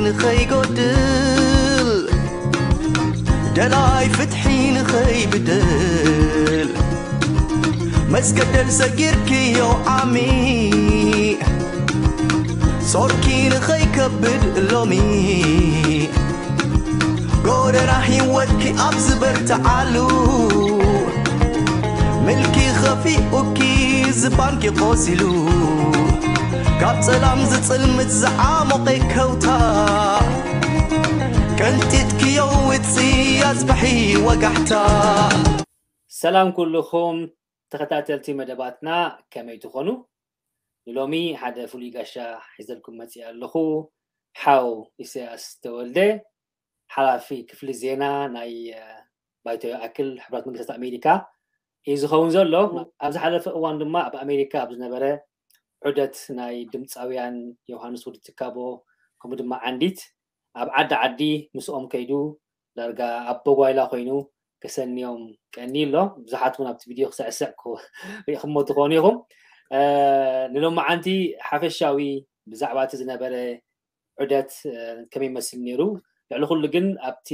ንኸይጎድል፣ ደላይ ፍትሒ ንኸይብደል፣ መስገደል ሰጊርክዮ ዓሚ፣ ጾርኪ ንኸይከብድ ሎሚ፣ ጎደና ህይወትኪ ኣብ ዝበርትዓሉ፣ ምልኪ ኸፊኡኪ ዝባንኪ ቆሲሉ፣ ካብ ጸላም ዝጽልምት ዝዓሞቐ ከውታ፣ ቀንጢጥክዮ ውጽእ ኣጽብሒ ወጋሕታ። ሰላም ኩልኹም ተኸታተልቲ መደባትና፣ ከመይ ትኾኑ? ንሎሚ ሓደ ፍሉይ ጋሻ ሒዘልኩም መጺእ ኣለኹ። ሓው ኢሳያስ ተወልደ፣ ሓላፊ ክፍሊ ዜና ናይ፣ እ፣ ባይቶ ይኣክል ሕቡራት መንግስታት ኣሜሪካ እዩ ዝኸውን ዘሎ። ኣብ ዝሓለፈ እዋን ድማ ኣብ ኣሜሪካ ኣብ ዝነበረ ዑደት ናይ ድምፃውያን ዮሃንስ ወዲ ትካቦ፣ ከምኡ ድማ ዓንዲት ኣብ ዓዲ ዓዲ ምስኦም ከይዱ ዳርጋ ኣብ ቦጓይላ ኮይኑ ከሰንዮም ቀኒ ኣሎ። ብዙሓት እውን ኣብቲ ቪድዮ ክስዕስዕ ክሪእኹሞ ትኾኑ ኢኹም። እ፣ ንሎማዓንቲ ሓፈሻዊ ብዛዕባ እቲ ዝነበረ ዑደት፣ እ፣ ከመይ ይመስል ነይሩ? ልዕሊ ኩሉ ግን ኣብቲ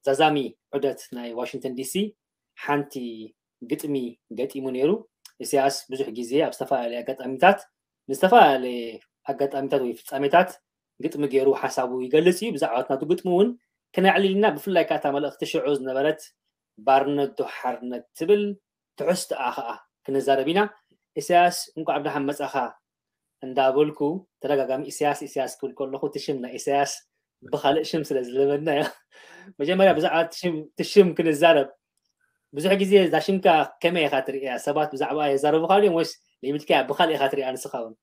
ዛዛሚ ዑደት ናይ ዋሽንግተን ዲሲ ሓንቲ ግጥሚ ገጢሙ ነይሩ። ኢሳያስ ብዙሕ ግዜ ኣብ ዝተፈላለየ ኣጋጣሚታት፣ ንዝተፈላለየ ኣጋጣሚታት ወይ ፍጻሜታት ግጥሚ ገይሩ ሓሳቡ ይገልጽ እዩ። ብዛዕባ ናቱ ግጥሚ እውን ክነዕልል ኢና። ብፍላይ ከኣ እታ መልእኽቲ ሽዑ ዝነበረት ባርነት ዶ ሓርነት ትብል ትሕዝቶኣ ከኣ ክንዛረብ ኢና። ኢሳያስ፣ እንኳዕ ብደሓን መጻኻ እንዳበልኩ፣ ተደጋጋሚ ኢሳያስ፣ ኢሳያስ ክብል ከለኹ፣ እቲ ሽም ናይ ኢሳያስ ብኻልእ ሽም ስለ ዝለመድናዮ፣ መጀመርያ ብዛዕባ እቲ ሽም፣ እቲ ሽም ክንዛረብ። ብዙሕ ግዜ እዛ ሽምካ ከመይ ኢኻ ትርእያ? ሰባት ብዛዕባ የዛረቡኻ ድዮም ወይስ ለይብልካያ ብኻልእ ኢኻ ትርእያ ንስኻ እውን?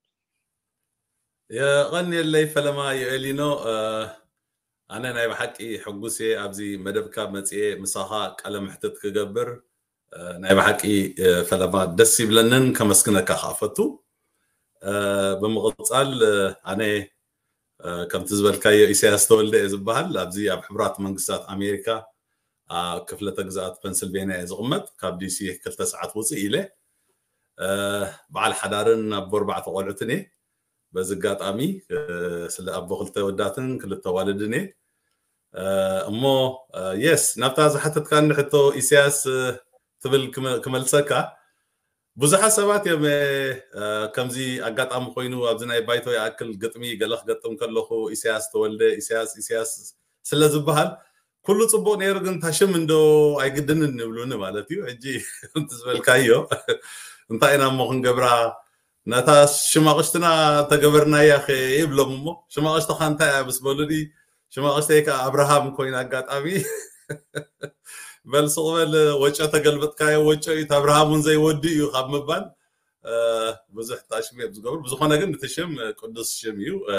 የቐንየለይ ፈለማ ዮኤሊኖ። እ፣ ኣነ ናይ ብሓቂ ሕጉስ እየ ኣብዚ መደብካ መጽኤ ምሳኻ ቃለ መሕትት ክገብር። እ፣ ናይ ብሓቂ፣ እ፣ ፈለማ ደስ ይብለንን ከመስግነካ ከኣ ፈቱ። እ፣ ብምቕጻል፣ እ፣ ኣነ፣ እ፣ ከምቲ ዝበልካዮ ኢሳያስ ተወልደ እየ ዝበሃል። ኣብዚ ኣብ ሕቡራት መንግስታት ኣሜሪካ፣ ኣብ ክፍለ ተግዛኣት ፐንስልቬንያ እየ ዝቕመጥ። ካብ ዲሲ ክልተ ሰዓት ውፅእ ኢለ፣ እ፣ በዓል ሓዳርን ኣቦ ኣርባዕተ ቆልዑትን እየ። በዚ ኣጋጣሚ፣ እ፣ ስለ ኣቦ ክልተ ወዳትን ክልተ ዋልድን እየ። እ፣ እሞ፣ እ፣ የስ፣ ናብታ ዝሓተትካኒ ሕቶ ኢሳያስ፣ እ፣ ትብል ክመ-፣ ክመልሰካ። ብዙሓት ሰባት እዮም፣ እ፣ እ፣ ከምዚ ኣጋጣሚ ኮይኑ ኣብዚ ናይ ባይቶ ይኣክል ግጥሚ ገለ ክገጥም ከለኹ ኢሳያስ ተወልደ፣ ኢሳያስ፣ ኢሳያስ ስለ ዝበሃል ኩሉ ጽቡቕ ነይሩ፣ ግን እታ ሽም እንዶ ኣይግድንን ይብሉኒ ማለት እዩ። ሕጂ ከምቲ ዝበልካዮ እንታይ ኢና እሞ ክንገብራ፣ ነታ ሽማቕሽትና ተገበርናያ ኸ ይብሎም እሞ፣ ሽማቕሽትኻ እንታይ እያ ምስ በሉኒ፣ ሽማቕሽተይ ከኣ ኣብርሃም ኮይና ኣጋጣሚ፣ በል ስቕ በል ወጮ ተገልበጥካዮ፣ ወጮ እዩ፣ እቲ ኣብርሃም እውን ዘይወዲ እዩ ካብ ምባል፣ እ፣ ብዙሕ ተኣሽሙ እዮም ዝገብሩ። ብዝኾነ ግን እቲ ሽም ቅዱስ ሽም እዩ። እ፣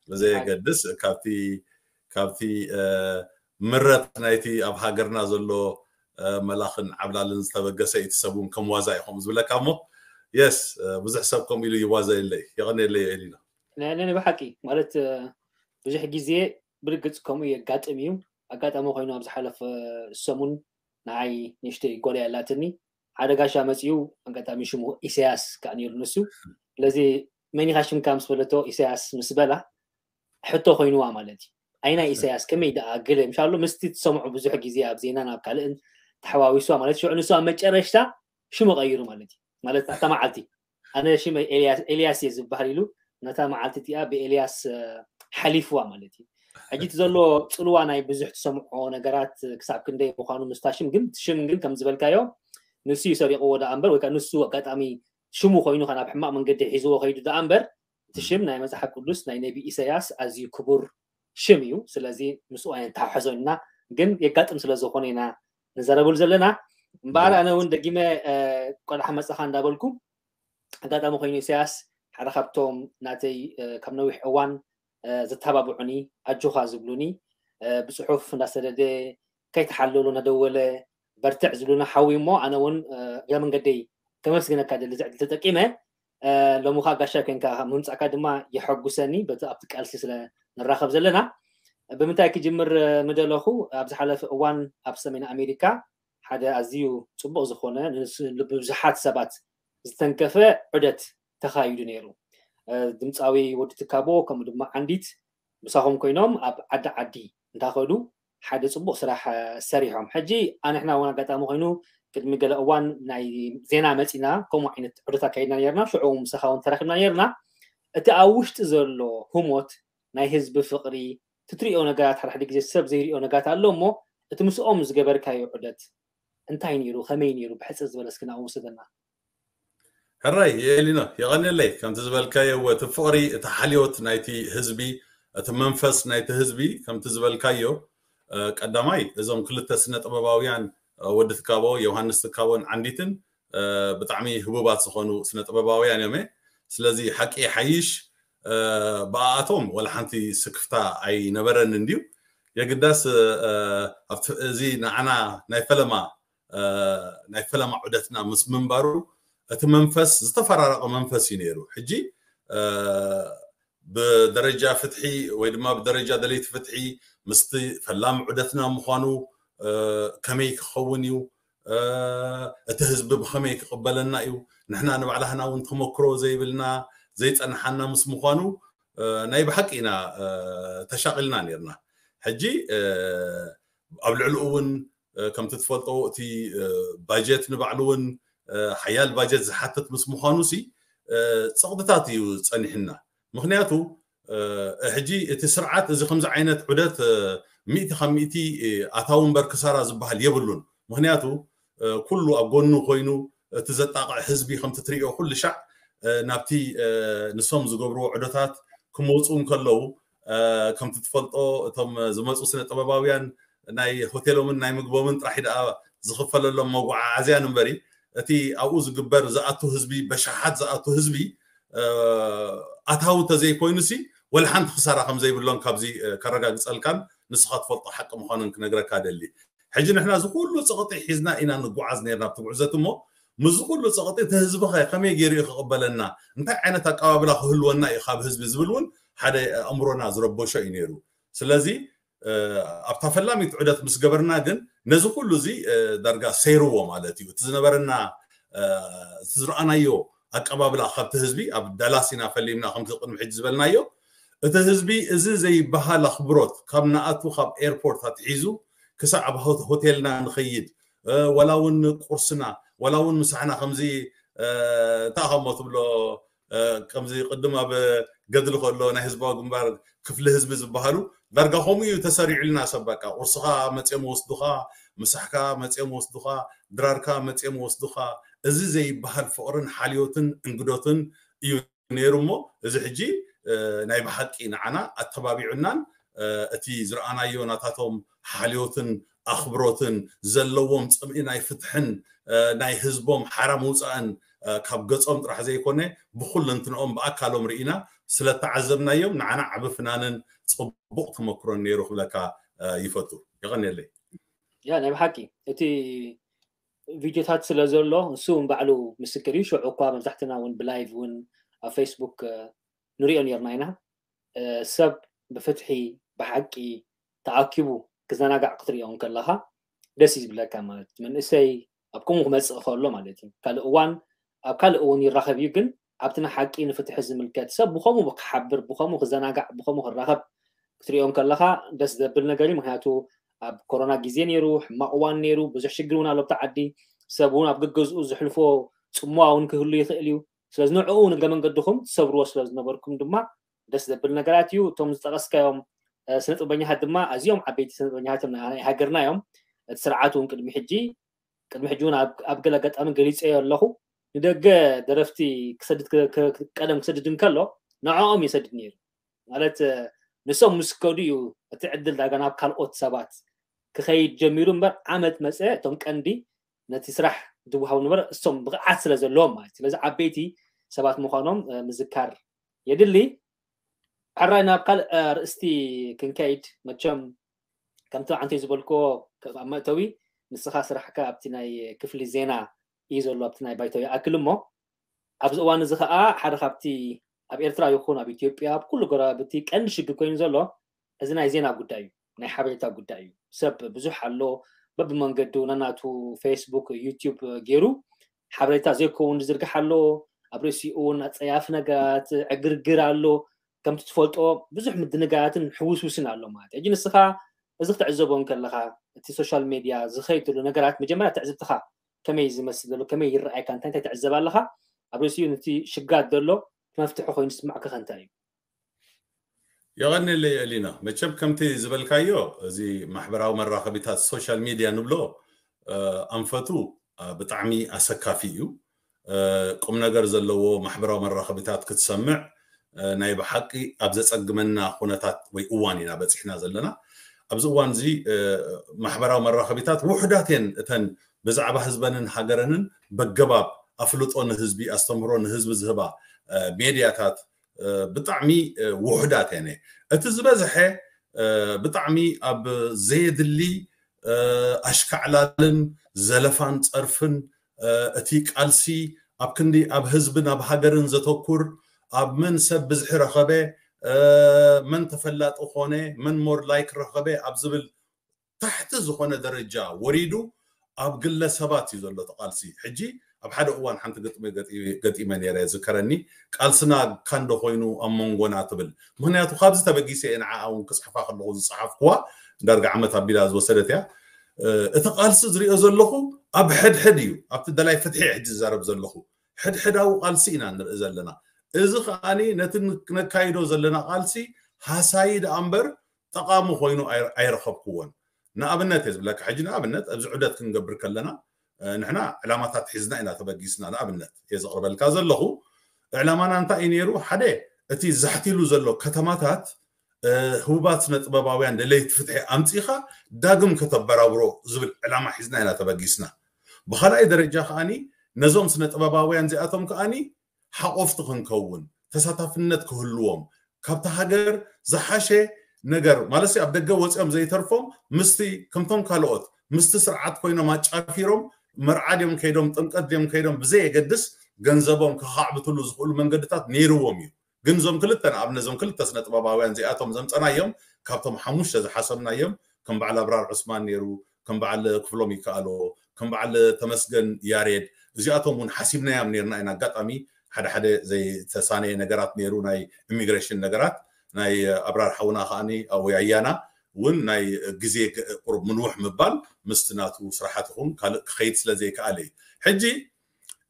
ብዘየገድስ ካብቲ፣ ካብቲ፣ እ፣ ምረት ናይቲ ኣብ ሃገርና ዘሎ፣ እ፣ መላኽን ዓብላልን ዝተበገሰ እቲ ሰብ እውን ከም ዋዛ እዩ ከምኡ ዝብለካ እሞ፣ የስ፣ እ፣ ብዙሕ ሰብ ከምኡ ኢሉ ይዋዘየለይ። የቐንየለይ ኤሊና። ነ-፣ ነ-፣ ብሓቂ ማለት፣ እ፣ ብዙሕ ግዜ ብርግጽ ከምኡ የጋጥም እዩ። ኣጋጣሚ ኮይኑ ኣብ ዝሓለፈ ሰሙን ንዓይ ንእሽተይ ጓል እያ ኣላትኒ። ሓደ ጋሻ መጺኡ፣ ኣጋጣሚ ሽሙ ኢሳያስ ከኣ ነይሩ ንሱ። ስለዚ መን ኢኻ ሽምካ ምስ በለቶ ኢሳያስ ምስ በላ ሕቶ ኮይኑዋ ማለት እዩ። ኣይና ኢሳያስ ከመይ ደኣ ገለ ምሻሎ ምስቲ ትሰምዑ ብዙሕ ግዜ ኣብ ዜናን ኣብ ካልእን ተሓዋዊስዋ ማለት ሽዑ ንሱ ኣብ መጨረሽታ ሽሙ ቀይሩ ማለት እዩ። ማለት ኣታ መዓልቲ ኣነ ሽመይ ኤልያስ፣ ኤልያስ እየ ዝበሃል ኢሉ ነታ መዓልቲ እቲኣ ብኤልያስ፣ እ፣ ሓሊፍዋ ማለት እዩ። ሕጂ እቲ ዘሎ ጽልዋ ናይ ብዙሕ ትሰምዖ ነገራት ክሳብ ክንደይ ምዃኑ ምስታ ሽም ግን፣ እቲ ሽም ግን ከም ዝበልካዮ ንሱ እዩ ሰሪቕዎ ደኣ እምበር፣ ወይ ከኣ ንሱ ኣጋጣሚ ሽሙ ኮይኑ ከኣ ናብ ሕማቕ መንገዲ ሒዝዎ ከይዱ ደኣ እምበር፣ እቲ ሽም ናይ መጽሓፍ ቅዱስ ናይ ነቢ ኢሳያስ ኣዝዩ ክቡር ሽም እዩ። ስለዚ ምስኡ ኣይንተሓሕዞ ኢና፣ ግን የጋጥም ስለ ዝኾነ ኢና ንዘረበሉ ዘለና። እምበኣር ኣነ እውን ደጊመ፣ እ፣ ቆልዓ መጻኻ እንዳበልኩ፣ ኣጋጣሚ ኮይኑ ኢሳያስ ሓደ ካብቶም ናተይ፣ እ፣ ካብ ነዊሕ እዋን፣ እ፣ ዘተባብዑኒ፣ ኣጆኻ ዝብሉኒ፣ እ፣ ብጽሑፍ እንዳሰደደ፣ ከይተሓለሉ እናደወለ በርትዕ ዝብሉና ሓዊ እሞ፣ ኣነ እውን፣ እ፣ እግረ መንገደይ ከመስግነካ ደሊ፣ እዚ ዕድል ተጠቂመ፣ እ፣ ሎሚ ኸኣ ጋሻ ኮይንካ ምምጻእካ ድማ የሐጉሰኒ፣ በቲ ኣብቲ ቃልሲ ስለ ንራኸብ ዘለና። ብምንታይ ክጅምር፣ እ፣ ምደለኹ፣ ኣብ ዝሓለፈ እዋን ኣብ ሰሜን ኣሜሪካ ሓደ ኣዝዩ ጽቡቕ ዝኾነ፣ ንስ-፣ ልቢ ብዙሓት ሰባት ዝተንከፈ ዑደት ተኻይዱ ነይሩ። እ፣ ድምጻዊ ወዲ ትካቦ፣ ከምኡ ድማ ዓንዲት ምሳኹም ኮይኖም ኣብ ዓዲ ዓዲ እንዳኸዱ ሓደ ፅቡቕ ስራሕ ሰሪሖም። ሕጂ ኣንሕና እውን ኣጋጣሚ ኮይኑ ቅድሚ ገለ እዋን ናይ ዜና መፂና፣ ከምኡ ዓይነት ዕዶት ኣካይድና ነርና። ሽዑ ምሳኻ እውን ተራኺብና ነርና። እቲ ኣብ ውሽጢ ዘሎ ህሞት ናይ ህዝቢ ፍቕሪ፣ ትትሪኦ ነገራት፣ ሓደ ሓደ ግዜ ሰብ ዘይሪኦ ነገራት ኣሎ እሞ፣ እቲ ምስኦም ዝገበርካዮ ዑደት እንታይ ነይሩ? ከመይ ነይሩ? ብሕፅር ዝበለ እስኪ ናብኡ ውሰደና። ሕራይ የሊኖ፣ የቐንየለይ። ከምቲ ዝበልካዮ፣ እቲ ፍቕሪ፣ እቲ ሓልዮት ናይቲ ህዝቢ፣ እቲ መንፈስ ናይቲ ህዝቢ፣ ከምቲ ዝበልካዮ፣ ቀዳማይ እዞም ክልተ ስነ ጥበባውያን፣ ወዲ ትካቦ፣ ዮሃንስ ትካቦን ዓንዲትን፣ ብጣዕሚ ህቡባት ዝኾኑ ስነ ጥበባውያን እዮም። ስለዚ ሓቂ ሓይሽ፣ ብኣኣቶም ወላ ሓንቲ ስክፍታ ኣይነበረን እንድዩ። የግዳስ ኣብቲ እዚ ንዓና ናይ ፈለማ ናይ ፈለማ ዑደትና ምስ ምንባሩ፣ እቲ መንፈስ ዝተፈራረቐ መንፈስ እዩ ነይሩ። ሕጂ ብደረጃ ፍትሒ ወይ ድማ ብደረጃ ደለይቲ ፍትሒ ምስቲ ፈላሚ ዑደትና ምዃኑ ከመይ ክኸውን እዩ፣ እቲ ህዝቢ ብኸመይ ክቕበለና እዩ፣ ንሕና ንባዕላህና እውን ተመክሮ ዘይብልና ዘይፀንሓና ምስ ምዃኑ ናይ ብሓቂ ኢና ተሻቒልና ነርና። ሕጂ ኣብ ልዕሊኡ እውን ከምቲ ትፈልጦ እቲ ባጀት ንባዕሉ እውን ሓያል ባጀት ዝሓትት ምስ ምዃኑ ሲ ፀቕጥታት እዩ ፀኒሕና። ምክንያቱ ሕጂ እቲ ስርዓት እዚ ከምዚ ዓይነት ዑደት ሚእቲ ካብ ሚእቲ ኣታዊ እምበር ክሳራ ዝበሃል የብሉን። ምክንያቱ ኩሉ ኣብ ጎኑ ኮይኑ እቲ ዘጣቕዕ ህዝቢ ከምቲ ትሪኦ ኩሉ ሻዕ ናብቲ ንሶም ዝገብርዎ ዑደታት ክመፁ እንከለዉ ከምቲ ትፈልጦ እቶም ዝመፁ ስነ ጥበባውያን ናይ ሆቴሎምን ናይ ምግቦምን ጥራሕ ደኣ ዝኽፈለሎም መጓዓዓዝያን እምበሪ እቲ ኣብኡ ዝግበር ዝኣቱ ህዝቢ በሻሓት ዝኣቱ ህዝቢ ኣታዊ ተዘይኮይኑ ሲ ወላ ሓንቲ ክሳራ ከም ዘይብሎም ካብዚ ከረጋግፀልካን ንስኻ ትፈልጦ ሓቂ ምዃኑን ክነግረካ ደሊ። ሕጂ ንሕና እዚ ኩሉ ፀቕጢ ሒዝና ኢና ንጓዓዝ ነርና ኣብቲ ጉዕዘት እሞ ምስዚ ኩሉ ፀቕጢ እቲ ህዝብኸ ከመይ ገይሩ እዩ ክቕበለና፣ እንታይ ዓይነት ኣቀባብላ ክህልወና እዩ ካብ ህዝቢ ዝብል እውን ሓደ ኣእምሮና ዝረበሾ እዩ ነይሩ። ስለዚ ኣብታ ፈላሚት ዑደት ምስ ገበርና ግን ነዚ ኩሉ እዚ ዳርጋ ሰይርዎ ማለት እዩ። እቲ ዝነበረና እቲ ዝረኣናዮ ኣቀባብላ ካብቲ ህዝቢ ኣብ ዳላስ ኢና ፈሊምና ከምቲ ቅድሚ ሕጂ ዝበልናዮ እቲ ህዝቢ እዚ ዘይበሃል ኣኽብሮት ካብ ንኣቱ ካብ ኤርፖርት ኣትሒዙ ክሳዕ ኣብ ሆቴልና ንኸይድ ወላ እውን ቁርስና ወላ እውን ምሳሕና ከምዚ እንታይ ከምሞ ትብሎ ከምዚ ቅድም ኣብ ገድሊ ከሎ ናይ ህዝባዊ ግንባር ክፍሊ ህዝቢ ዝበሃሉ ዳርጋ ከምኡ እዩ ተሰሪዑልና። ሰብ በቃ ቁርስኻ መፅኦም ወስዱኻ፣ ምሳሕካ መፅኦም ወስዱኻ፣ ድራርካ መፅኦም ወስዱኻ። እዚ ዘይበሃል ፍቕርን ሓልዮትን እንግዶትን እዩ ነይሩ እሞ እዚ ሕጂ ናይ ብሓቂ ንዓና ኣተባቢዑናን እቲ ዝረኣናዮ ናታቶም ሓልዮትን ኣኽብሮትን ዘለዎም ፅምኢ ናይ ፍትሕን ናይ ህዝቦም ሓራ ምውፃእን ካብ ገፆም ጥራሕ ዘይኮነ ብኩለንትንኦም ብኣካሎም ርኢና ስለተዓዘብናዮም ንዓና ዓቢ ፍናንን ፅቡቕ ተመክሮን ነይሩ ክብለካ ይፈቱ። የቐንየለይ። ያ ናይ ብሓቂ እቲ ቪድዮታት ስለ ዘሎ ንሱ እውን ባዕሉ ምስክር እዩ። ሽዑ እኳ መብዛሕትና እውን ብላይቭ እውን ኣብ ፌስቡክ ንሪኦ ነርና ኢና። ሰብ ብፍትሒ ብሓቂ ተኣኪቡ ክዘናጋዕ ክትሪኦ እንከለኻ ደስ እዩ ዝብለካ። ማለት መንእሰይ ኣብ ከምኡ ክመፅእ ከሎ ማለት እዩ። ካልእ እዋን ኣብ ካልእ እውን ይራኸብ እዩ፣ ግን ኣብቲ ንሓቂ ንፍትሒ ዝምልከት ሰብ ብኸምኡ ክሓብር ብኸምኡ ክዘናጋዕ ብኸምኡ ክራኸብ ክትሪኦ እንከለኻ ደስ ዘብል ነገር እዩ። ምክንያቱ ኣብ ኮሮና ግዜ ነይሩ፣ ሕማቕ እዋን ነይሩ፣ ብዙሕ ሽግር እውን ኣሎ ኣብቲ ዓዲ። ሰብ እውን ኣብ ገገዝኡ ዝሕልፎ ፅምዋ እውን ክህሉ ይኽእል እዩ። ስለዚ ንዕኡ ንገ መንገድኹም ትሰብርዎ ስለ ዝነበርኩም ድማ ደስ ዘብል ነገራት እዩ። እቶም ዝጠቐስካዮም ስነጥበኛታት ድማ ኣዝዮም ዓበይቲ ስነጥበኛታት እዮም ናይ ሃገርና እዮም። እቲ ስርዓት እውን ቅድሚ ሕጂ ቅድሚ ሕጂ እውን ኣብ ገለ ኣጋጣሚ ገሊፀዮ ኣለኹ። ንደገ ደረፍቲ ክሰድድ ቀደም ክሰድድ እንከሎ ንዕኦም ይሰድድ ነይሩ። ማለት ንሶም ምስ ከዱ እዩ እቲ ዕድል ዳጋ ናብ ካልኦት ሰባት ክኸይድ ጀሚሩ እምበር ዓመት መፀ እቶም ቀንዲ ነቲ ስራሕ ዝወሃቡ ነበረ እሶም ብቕዓት ስለ ዘለዎም ማለት። ስለዚ ዓበይቲ ሰባት ምዃኖም ምዝካር የድሊ። ሕራይ ናብ ካልእ ኣርእስቲ ክንከይድ መቸም ከምቲ ዓንተይ ዝበልክዎ ኣብ መእተዊ ንስኻ ስራሕካ ኣብቲ ናይ ክፍሊ ዜና እዩ ዘሎ ኣብቲ ናይ ባይቶ ይኣክል እሞ ኣብዚ እዋን እዚ ከዓ ሓደ ካብቲ ኣብ ኤርትራ ይኹን ኣብ ኢትዮጵያ ኣብ ኩሉ ጎረባብቲ ቀንዲ ሽግር ኮይኑ ዘሎ እዚ ናይ ዜና ጉዳይ እዩ፣ ናይ ሓበሬታ ጉዳይ እዩ። ሰብ ብዙሕ ኣሎ በብመንገዱ ነናቱ ፌስቡክ ዩቲዩብ ገይሩ ሓበሬታ ዘይከውን ዝዝርግሕ ኣሎ። ኣብ ርእሲኡ እውን ኣፀያፊ ነገራት ዕግርግር ኣሎ። ከምቲ ትፈልጦ ብዙሕ ምድንጋያትን ሕውስውስን ኣሎ ማለት እዩ። ሕጂ ንስኻ እዚ ክትዕዘቦ እንከለኻ፣ እቲ ሶሻል ሜድያ ዝኸይድ ዘሎ ነገራት መጀመርያ ትዕዝብትኻ ከመይ ዝመስል ዘሎ፣ ከመይ ይረኣየካ፣ እንታይ እንታይ ትዕዘብ ኣለኻ? ኣብ ርእሲኡ ነቲ ሽጋት ዘሎ መፍትሒ ኮይኑ ዝስማዕካ ከ እንታይ እዩ? የቐንየለይ ኤሊና። መቸም ከምቲ ዝበልካዮ፣ እዚ ማሕበራዊ መራኸቢታት፣ ሶሻል ሚድያ ንብሎ፣ ኣንፈቱ ብጣዕሚ ኣሰካፊ እዩ። ቁም ነገር ዘለዎ ማሕበራዊ መራኸቢታት ክትሰምዕ ናይ ብሓቂ ኣብ ዘጸግመና ኩነታት ወይ እዋን ኢና በጺሕና ዘለና። ኣብዚ እዋን እዚ ማሕበራዊ መራኸቢታት ውሕዳት እየን፣ እተን ብዛዕባ ህዝበንን ሃገረንን በገባብ ኣፍልጦ ንህዝቢ፣ ኣስተምህሮ ንህዝቢ ዝህባ ሜድያታት ብጣዕሚ ውሕዳት እየን። እቲ ዝበዝሐ ብጣዕሚ ኣብ ዘየድሊ ኣሽካዕላልን ዘለፋን ጸርፍን፣ እቲ ቃልሲ ኣብ ክንዲ ኣብ ህዝብን ኣብ ሃገርን ዘተኩር፣ ኣብ መን ሰብ ብዝሒ ረኸበ፣ መን ተፈላጢ ኮነ፣ መን ሞር ላይክ ረኸበ ኣብ ዝብል ታሕቲ ዝኾነ ደረጃ ወሪዱ ኣብ ግለሰባት እዩ ዘሎ እቲ ቃልሲ። ሕጂ ኣብ ሓደ እዋን ሓንቲ ግጥሚ ገጢመ ነይረ፣ ዝከረኒ፣ ቃልስና ካንዶ ኮይኑ ኣብ መንጎና ትብል። ምክንያቱ ካብዚ ተበጊሰ እየ ንዓኣ እውን ክፅሕፋ ከለኹ ዝፀሓፍኩዋ፣ ዳርጋ ዓመት ኣቢላ ዝወሰደት እያ። እቲ ቃልሲ ዝሪኦ ዘለኹ ኣብ ሕድሕድ እዩ፣ ኣብቲ ደላይ ፍትሒ ሕጂ ዝዛረብ ዘለኹ ሕድሕዳዊ ቃልሲ ኢና ንርኢ ዘለና። እዚ ከዓኒ ነቲ ነካይዶ ዘለና ቃልሲ ሃሳዪ ደኣ እምበር ጠቓሚ ኮይኑ ኣይረኸብክዎን። ንኣብነት እየ ዝብለካ፣ ሕጂ ንኣብነት ኣብዚ ዑደት ክንገብር ከለና ንሕና ዕላማታት ሒዝና ኢና ተበጊስና። ንኣብነት እየ ዘቕርበልካ ዘለኹ፣ ዕላማና እንታይ እዩ ነይሩ? ሓደ፣ እቲ ዛሕቲሉ ዘሎ ከተማታት ህቡባት ስነ ጥበባውያን ደለይቲ ፍትሒ ኣምፂኻ ዳግም ከተበራብሮ ዝብል ዕላማ ሒዝና ኢና ተበጊስና። ብኻልኣይ ደረጃ ከዓኒ ነዞም ስነ ጥበባውያን እዚኣቶም ከዓኒ ሓቆፍቲ ክንከውን፣ ተሳታፍነት ክህልዎም፣ ካብቲ ሃገር ዝሓሸ ነገር ማለት ኣብ ደገ ወፂኦም ዘይተርፎም ምስቲ ከምቶም ካልኦት ምስቲ ስርዓት ኮይኖም ኣጫፊሮም መርዓ ድዮም ከይዶም ጥምቀት ድዮም ከይዶም ብዘየገድስ ገንዘቦም ከኻዕብትሉ ዝኽእሉ መንገድታት ነይርዎም እዩ። ግን እዞም ክልተ ንኣብነት እዞም ክልተ ስነ ጥበባውያን እዚኣቶም ዘምፀናዮም ካብቶም ሓሙሽተ ዝሓሰብናዮም ከም በዓል ኣብራር ዑስማን ነይሩ፣ ከም በዓል ክፍሎም ይከኣሎ፣ ከም በዓል ተመስገን ያሬድ እዚኣቶም እውን ሓሲብናዮም ነይርና ኢና። ኣጋጣሚ ሓደ ሓደ ዘይተሳነየ ነገራት ነይሩ፣ ናይ ኢሚግሬሽን ነገራት። ናይ ኣብራር ሓውና ከዓኒ ወይ ኣያና እውን ናይ ግዜ ቁሩብ ምንውሕ ምባል ምስቲ ናቱ ስራሓት ይኹን ካልእ ክኸይድ ስለ ዘይከኣለ እዩ። ሕጂ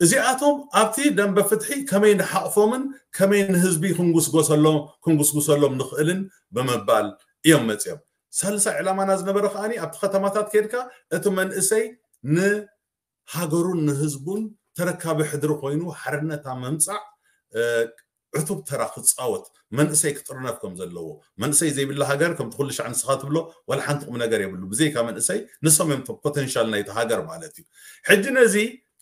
እዚኣቶም ኣብቲ ደንበ ፍትሒ ከመይ ንሓቕፎምን ከመይ ንህዝቢ ክንጉስጎሰሎም ክንጉስጉሰሎም ንኽእልን ብምባል እዮም መፅዮም። ሳልሳይ ዕላማና ዝነበረ ከዓኒ ኣብቲ ከተማታት ከድካ እቲ መንእሰይ ንሃገሩን ንህዝቡን ተረካቢ ሕድሪ ኮይኑ ሓርነት ኣብ ምምፃእ ዕቱብ ተራ ክፃወት፣ መንእሰይ ክጥርነፍ ከም ዘለዎ። መንእሰይ ዘይብላ ሃገር ከምቲ ኩሉ ሻዕ ንስኻ ትብሎ ዋላ ሓንቲ ቁም ነገር የብሉ። ብዘይካ መንእሰይ ንሶም እዮም ፖቴንሻል ናይቲ ሃገር ማለት እዩ። ሕጂ ነዚ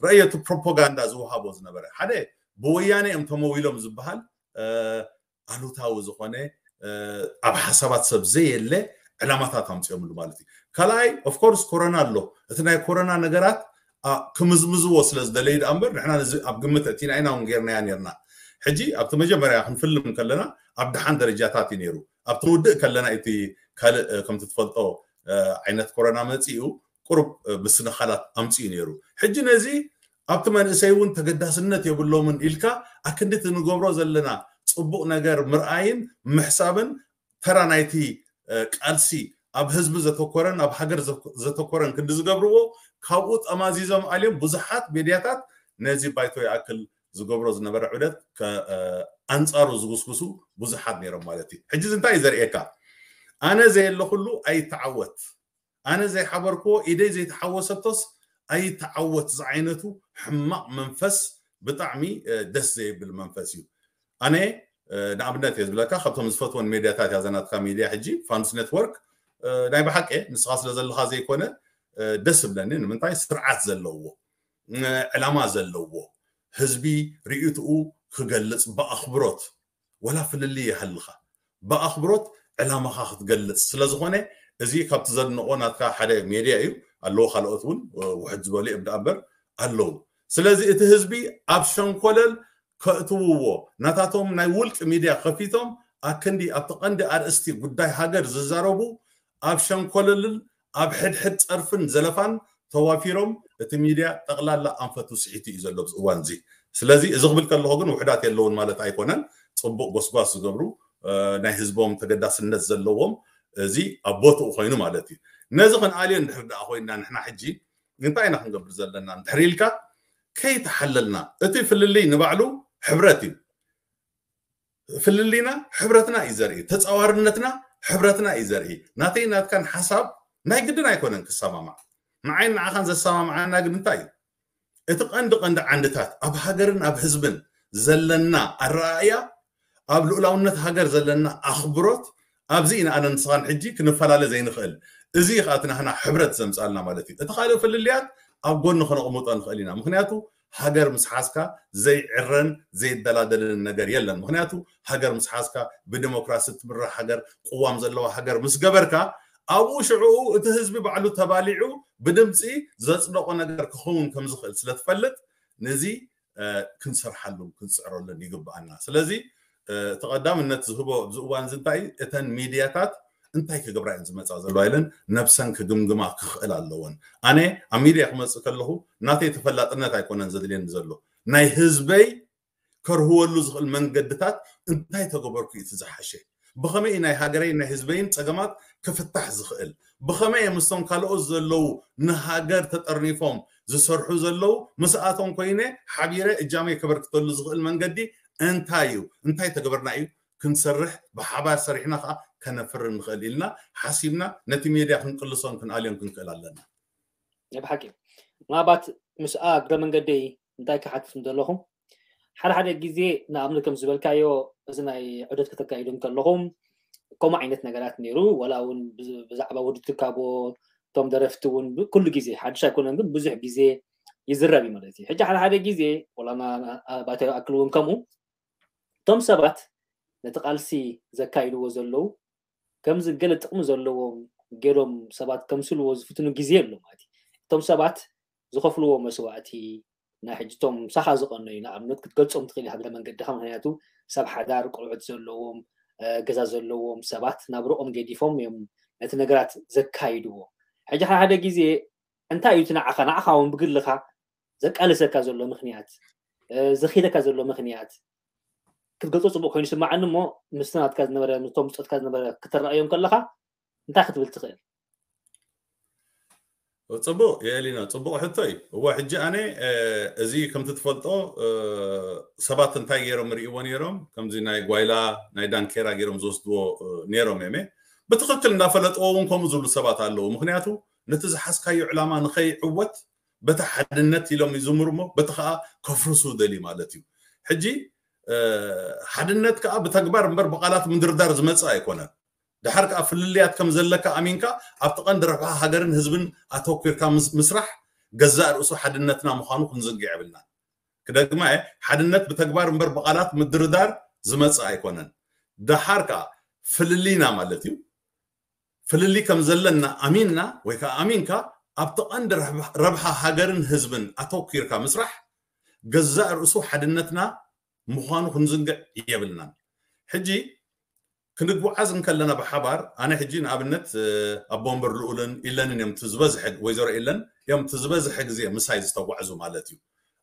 ረእዮ፣ እቲ ፕሮፓጋንዳ ዝወሃቦ ዝነበረ ሓደ ብወያነ እዮም ተመዊሎም ዝበሃል ኣሉታዊ ዝኾነ ኣብ ሓሳባት ሰብ ዘየለ ዕላማታት ኣምፅኦምሉ ማለት እዩ። ካልኣይ ኦፍኮርስ ኮረና ኣሎ። እቲ ናይ ኮረና ነገራት ክምዝምዝዎ ስለ ዝደለዩ ደኣ እምበር ንሕና ነዚ ኣብ ግምት ኣእቲና ኢና እውን ጌርናያ ኔርና። ሕጂ ኣብቲ መጀመርያ ክንፍልም ከለና ኣብ ደሓን ደረጃታት እዩ ነይሩ። ኣብቲ ንውድእ ከለና እቲ ካልእ ከምቲ ትፈልጦ ዓይነት ኮረና መፂኡ ቁሩብ ምስንኻላት ኣምፅኡ ነይሩ። ሕጂ ነዚ ኣብቲ መንእሰይ እውን ተገዳስነት የብሎምን ኢልካ ኣክንዲ እቲ ንገብሮ ዘለና ፅቡቕ ነገር ምርኣይን ምሕሳብን ተራ ናይቲ ቃልሲ ኣብ ህዝቢ ዘተኮረን ኣብ ሃገር ዘተኮረን ክንዲ ዝገብርዎ ካብኡ ጠማዚዞም ኣልዮም ብዙሓት ሜድያታት ነዚ ባይቶ ይኣክል ዝገብሮ ዝነበረ ዑደት ኣንፃሩ ዝጉስጉሱ ብዙሓት ነይሮም ማለት እዩ። ሕጂ እንታይ እዩ ዘርእየካ? ኣነ ዘየለኩሉ ኣይተዓወት፣ ኣነ ዘይሓበርክዎ ኢደይ ዘይተሓወሰቶስ ኣይተዓወት ዝዓይነቱ ሕማቕ መንፈስ ብጣዕሚ ደስ ዘይብል መንፈስ እዩ። ኣነ ንኣብነት እየ ዝብለካ ካብቶም ዝፈትወን ሜድያታት እያ ዘናትካ ሜድያ ሕጂ ፋንስ ኔትወርክ። ናይ ብሓቂ ንስኻ ስለ ዘለኻ ዘይኮነ ደስ እብለኒ። ንምንታይ ስርዓት ዘለዎ ዕላማ ዘለዎ ህዝቢ ርእይትኡ ክገልፅ ብኣኽብሮት ወላ ፍልልይ ይሃልኻ ብኣኽብሮት ዕላማኻ ክትገልፅ ስለዝኾነ እዚ ካብቲ ዘድንቆ ናትካ ሓደ ሜድያ እዩ። ኣለዎ ካልኦት እውን ውሕድ ዝበሉ እዮም ደኣ እምበር ኣለዉ። ስለዚ እቲ ህዝቢ ኣብ ሸንኮለል ከእትውዎ ናታቶም ናይ ውልቂ ሚድያ ከፊቶም ኣክንዲ ኣብቲ ቀንዲ ኣርእስቲ ጉዳይ ሃገር ዝዛረቡ ኣብ ሸንኮለልን ኣብ ሕድሕድ ፀርፍን ዘለፋን ተዋፊሮም እቲ ሚድያ ጠቕላላ ኣንፈቱ ስሒቱ እዩ ዘሎ ኣብዚ እዋን እዚ። ስለዚ እዚ ክብል ከለኹ ግን ውሕዳት የለውን ማለት ኣይኮነን። ፅቡቕ ጎስጓስ ዝገብሩ ናይ ህዝቦም ተገዳስነት ዘለዎም፣ እዚ ኣብ ቦትኡ ኮይኑ ማለት እዩ። ነዚ ክንኣልዮ እንድሕር ደኣ ኮይና ንሕና ሕጂ እንታይ ኢና ክንገብር ዘለና እንድሕር ኢልካ፣ ከይተሓለልና፣ እቲ ፍልልይ ንባዕሉ ሕብረት እዩ። ፍልልይና ሕብረትና እዩ ዘርኢ፣ ተፃዋርነትና ሕብረትና እዩ ዘርኢ። ናተይ ናትካን ሓሳብ ናይ ግድን ኣይኮነን ክሰማማዕ። ንዓይን ንዓኻን ዘሰማምዓና ግን እንታይ እዩ? እቲ ቀንዲ ቀንዲ ዓንድታት ኣብ ሃገርን ኣብ ህዝብን ዘለና ኣረኣእያ፣ ኣብ ልኡላውነት ሃገር ዘለና ኣኽብሮት፣ ኣብዚ ኢና ኣነ ንስኻን ሕጂ ክንፈላለ ዘይንኽእል። እዚ እዩ ከዓ እቲ ናህና ሕብረት ዘምፃልና ማለት እዩ። እቲ ካልእ ፍልልያት ኣብ ጎኒ ከነቕምጦ ንኽእል ኢና። ምክንያቱ ሃገር ምስ ሓዝካ ዘይዕረን ዘይደላደልን ነገር የለን። ምክንያቱ ሃገር ምስ ሓዝካ፣ ብዲሞክራሲ ትምራሕ ሃገር፣ ቅዋም ዘለዋ ሃገር ምስ ገበርካ፣ ኣብኡ ሽዕኡ እቲ ህዝቢ ባዕሉ ተባሊዑ ብድምፂ ዘፅደቆ ነገር ክኸውን ከም ዝኽእል ስለ ትፈልጥ፣ ነዚ ክንሰርሓሉን ክንፅዕረሉን ይግብኣና። ስለዚ እቲ ቀዳምነት ዝህቦ ኣብዚ እዋን እዚ እንታይ እዩ? እተን ሚድያታት እንታይ ክገብራ እየን ዝመፃ ዘለዋ ኢለን ነብሰን ክግምግማ ክኽእል ኣለወን። ኣነ ኣብ ሚድያ ክመፅእ ከለኹ ናተይ ተፈላጥነት ኣይኮነን ዘድልየኒ ዘሎ፣ ናይ ህዝበይ ከርህወሉ ዝኽእል መንገድታት እንታይ ተገበርኩ እዩ እቲ ዝሓሸ? ብኸመይ እዩ ናይ ሃገረይን ናይ ህዝበይን ፀገማት ክፍታሕ ዝኽእል? ብኸመይ እየ ምስቶም ካልኦት ዘለዉ ንሃገር ተጠርኒፎም ዝሰርሑ ዘለዉ ምስኣቶም ኮይነ ሓቢረ እጃመይ ከበርክተሉ ዝኽእል መንገዲ እንታይ እዩ? እንታይ ተገበርና እዩ ክንሰርሕ ብሓባር ሰሪሕና ከዓ ከነፍሪ ንኽእል ኢልና ሓሲብና ነቲ ሜድያ ክንቅልሶን ክንኣልዮን ክንክእል ኣለና። ብሓቂ ምናልባት ምስኣ እግረ መንገደይ እንታይ ክሓትት ምደለኹ ሓደ ሓደ ግዜ ንኣብነት ከም ዝበልካዮ እዚ ናይ ዑደት ከተካይዱ ከለኹም ከምኡ ዓይነት ነገራት ነይሩ። ዋላ እውን ብዛዕባ ውድድር ካቦ እቶም ደረፍቲ እውን ኩሉ ግዜ ሓድሽ ኣይኮነን፣ ግን ብዙሕ ግዜ ይዝረብ እዩ ማለት እዩ። ሕጂ ሓደ ሓደ ግዜ ዋላ ባታ ኣክል እውን ከምኡ እቶም ሰባት ነቲ ቃልሲ ዘካይድዎ ዘለዉ ከምዚ ገለ ጥቕሚ ዘለዎም ገይሮም ሰባት ከምስልዎ ዝፍትኑ ግዜ ኣሎ ማለት እዩ። እቶም ሰባት ዝኸፍልዎ መስዋእቲ ናይ ሕጅቶም ምሳኻ ዝቐነዩ ንኣብነት ክትገልጾም ትኽእል ሃግረ መንገድኻ፣ ምክንያቱ ሰብ ሓዳር ቆልዑት ዘለዎም ገዛ ዘለዎም ሰባት ናብርኦም ገዲፎም እዮም ነቲ ነገራት ዘካይድዎ። ሕጂ ሓደ ግዜ እንታይ እዩ እቲ ንዓኻ ንዓኻ እውን ብግልኻ ዘቃልሰካ ዘሎ ምክንያት ዘኺደካ ዘሎ ምክንያት ክትገልጾ ጽቡቅ ኮይኑ ይስማዓኒ እሞ ምስቲ ናትካ ዝነበረ ምስቶም ብጾትካ ዝነበረ ክትረኣዮም ከለኻ እንታይ ክትብል ትኽእል? ጽቡቅ የእሊና ጽቡቅ ሕቶ እዩ። እዋ ሕጂ ኣነ እዚ ከምቲ ትፈልጦ ሰባት እንታይ ገይሮም ርእይዎ ነይሮም ከምዚ ናይ ጓይላ ናይ ዳንኬራ ገይሮም ዝወስድዎ ነይሮም የመ ብትኽክል እንዳፈለጥዎ እውን ከምኡ ዝብሉ ሰባት ኣለዉ። ምክንያቱ ነቲ ዝሓዝካዮ ዕላማ ንኸይዕወት በቲ ሓድነት ኢሎም ይዝምሩ እሞ በቲ ከዓ ከፍርሱ ደልዩ ማለት እዩ። ሕጂ ሓድነት ከዓ ብተግባር እምበር ብቃላት ምድርዳር ዝመፅእ ኣይኮነን። ድሓር ከዓ ፍልልያት ከም ዘለካ ኣሚንካ ኣብቲ ቀንዲ ረብሓ ሃገርን ህዝብን ኣተኩርካ ምስራሕ ገዛእ ርእሱ ሓድነትና ምዃኑ ክንዝንግዕ የብልናን። ክደግማ እየ፣ ሓድነት ብተግባር እምበር ብቃላት ምድርዳር ዝመፅእ ኣይኮነን። ድሓር ከዓ ፍልልይና ማለት እዩ ፍልልይ ከም ዘለና ኣሚንና ወይ ከዓ ኣሚንካ ኣብቲ ቀንዲ ረብሓ ሃገርን ህዝብን ኣተኪርካ ምስራሕ ገዛእ ርእሱ ሓድነትና ምዃኑ ክንዝንግዕ የብልናን። ሕጂ ክንጓዓዝ እንከለና ብሓባር ኣነ ሕጂ ንኣብነት ኣቦ ወንበር ልኡልን ኢለንን እዮም ዝበዝሐ ወይዘሮ ኢለን እዮም ዝበዝሐ ግዜ ምሳይ ዝተጓዕዙ ማለት እዩ።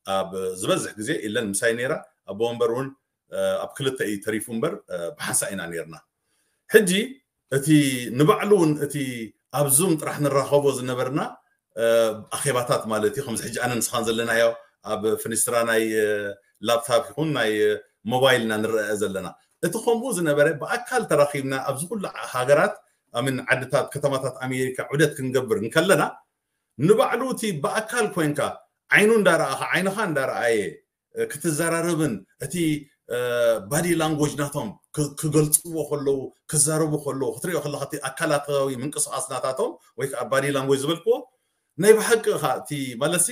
ኣብ ዝበዝሕ ግዜ ኢለን ምሳይ ነይራ። ኣቦ ወንበር እውን ኣብ ክልተ እዩ ተሪፉ እምበር ብሓንሳ ኢና ነይርና። ሕጂ እቲ ንባዕሉ እውን እቲ ኣብ ዙም ጥራሕ ንራኸቦ ዝነበርና ኣኼባታት ማለት እዩ ከምዚ ሕጂ ኣነ ንስኻን ዘለናዮ ኣብ ፍኒስትራ ናይ ላፕታፕ ይኹን ናይ ሞባይል ኢና ንረአ ዘለና። እቲ ከምኡ ዝነበረ ብኣካል ተራኺብና ኣብዚ ኩሉ ሃገራት ኣምን ዓድታት ከተማታት ኣሜሪካ ዑደት ክንገብር እንከለና ንባዕሉ እቲ ብኣካል ኮይንካ ዓይኑ እንዳረኣኻ ዓይንኻ እንዳረኣየ ክትዘራረብን እቲ ባዲ ላንጎጅ ናቶም ክገልፅዎ ከለዉ ክዛረቡ ከለዉ ክትሪኦ ከለካ እቲ ኣካላታዊ ምንቅስቃስ ናታቶም ወይ ከዓ ባዲ ላንጎጅ ዝበልክዎ ናይ ብሓቂ ካ እቲ ማለትሲ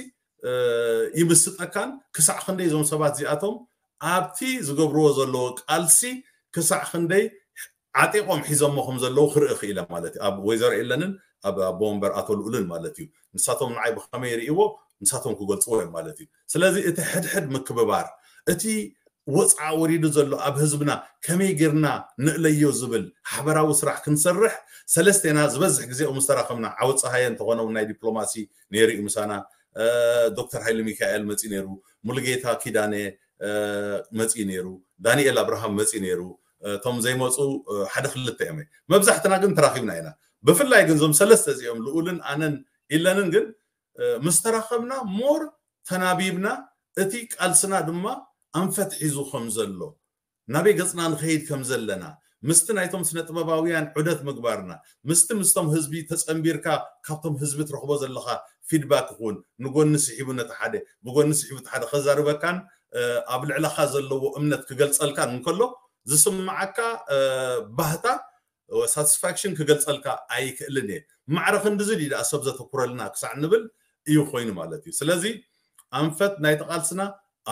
ይምስጠካን ክሳዕ ክንደይ እዞም ሰባት እዚኣቶም ኣብቲ ዝገብርዎ ዘለዎ ቃልሲ ክሳዕ ክንደይ ዓጢቆም ሒዞሞ ከም ዘለዉ ክርኢ ክኢለ ማለት እዩ። ኣብ ወይዘሮ የለንን ኣብ ኣቦ ወንበር ኣቶ ልኡልን ማለት እዩ። ንሳቶም ንዓይ ብከመይ ይርእይዎ ንሳቶም ክገልፅዎ እዮም ማለት እዩ። ስለዚ እቲ ሕድሕድ ምክብባር እቲ ወፅዓ ወሪዱ ዘሎ ኣብ ህዝብና ከመይ ጌርና ንእለዮ ዝብል ሓበራዊ ስራሕ ክንሰርሕ ሰለስቴና ዝበዝሕ ግዜ ምስ ተራኸብና ዓወት ፀሃየ እንተኾነ እውን ናይ ዲፕሎማሲ ነይሩ እዩ ምሳና። ዶክተር ሃይለ ሚካኤል መፂ ነይሩ፣ ሙሉጌታ ኪዳነ መፂ ነይሩ፣ ዳንኤል ኣብርሃም መፂ ነይሩ፣ እቶም ዘይመፁ ሓደ ክልተ እዮም። መብዛሕትና ግን ተራኺብና ኢና። ብፍላይ ግን እዞም ሰለስተ እዚኦም ልኡልን ኣነን ኢለንን ግን ምስ ተራኸብና ሞር ተናቢብና፣ እቲ ቃልስና ድማ ኣንፈት ሒዙ ከም ዘሎ፣ ናበይ ገፅና ንኸይድ ከም ዘለና፣ ምስቲ ናይቶም ስነ ጥበባውያን ዑደት ምግባርና፣ ምስቲ ምስቶም ህዝቢ ተፀንቢርካ ካብቶም ህዝቢ ትረኽቦ ዘለኻ ፊድባክ ይኹን ንጎኒ ስሒቡ ነቲ ሓደ ብጎኒ ስሒቡ እቲ ሓደ ከዛርበካን ኣብ ልዕለኻ ዘለዎ እምነት ክገልፀልካን እንከሎ ዝስምዓካ ባህታ ሳቲስፋክሽን ክገልፀልካ ኣይክእልን እየ። ማዕረ ክንድዚ ድዩ ደኣ ሰብ ዘተኩረልና ክሳዕ ንብል እዩ ኮይኑ ማለት እዩ። ስለዚ ኣንፈት ናይቲ ቃልስና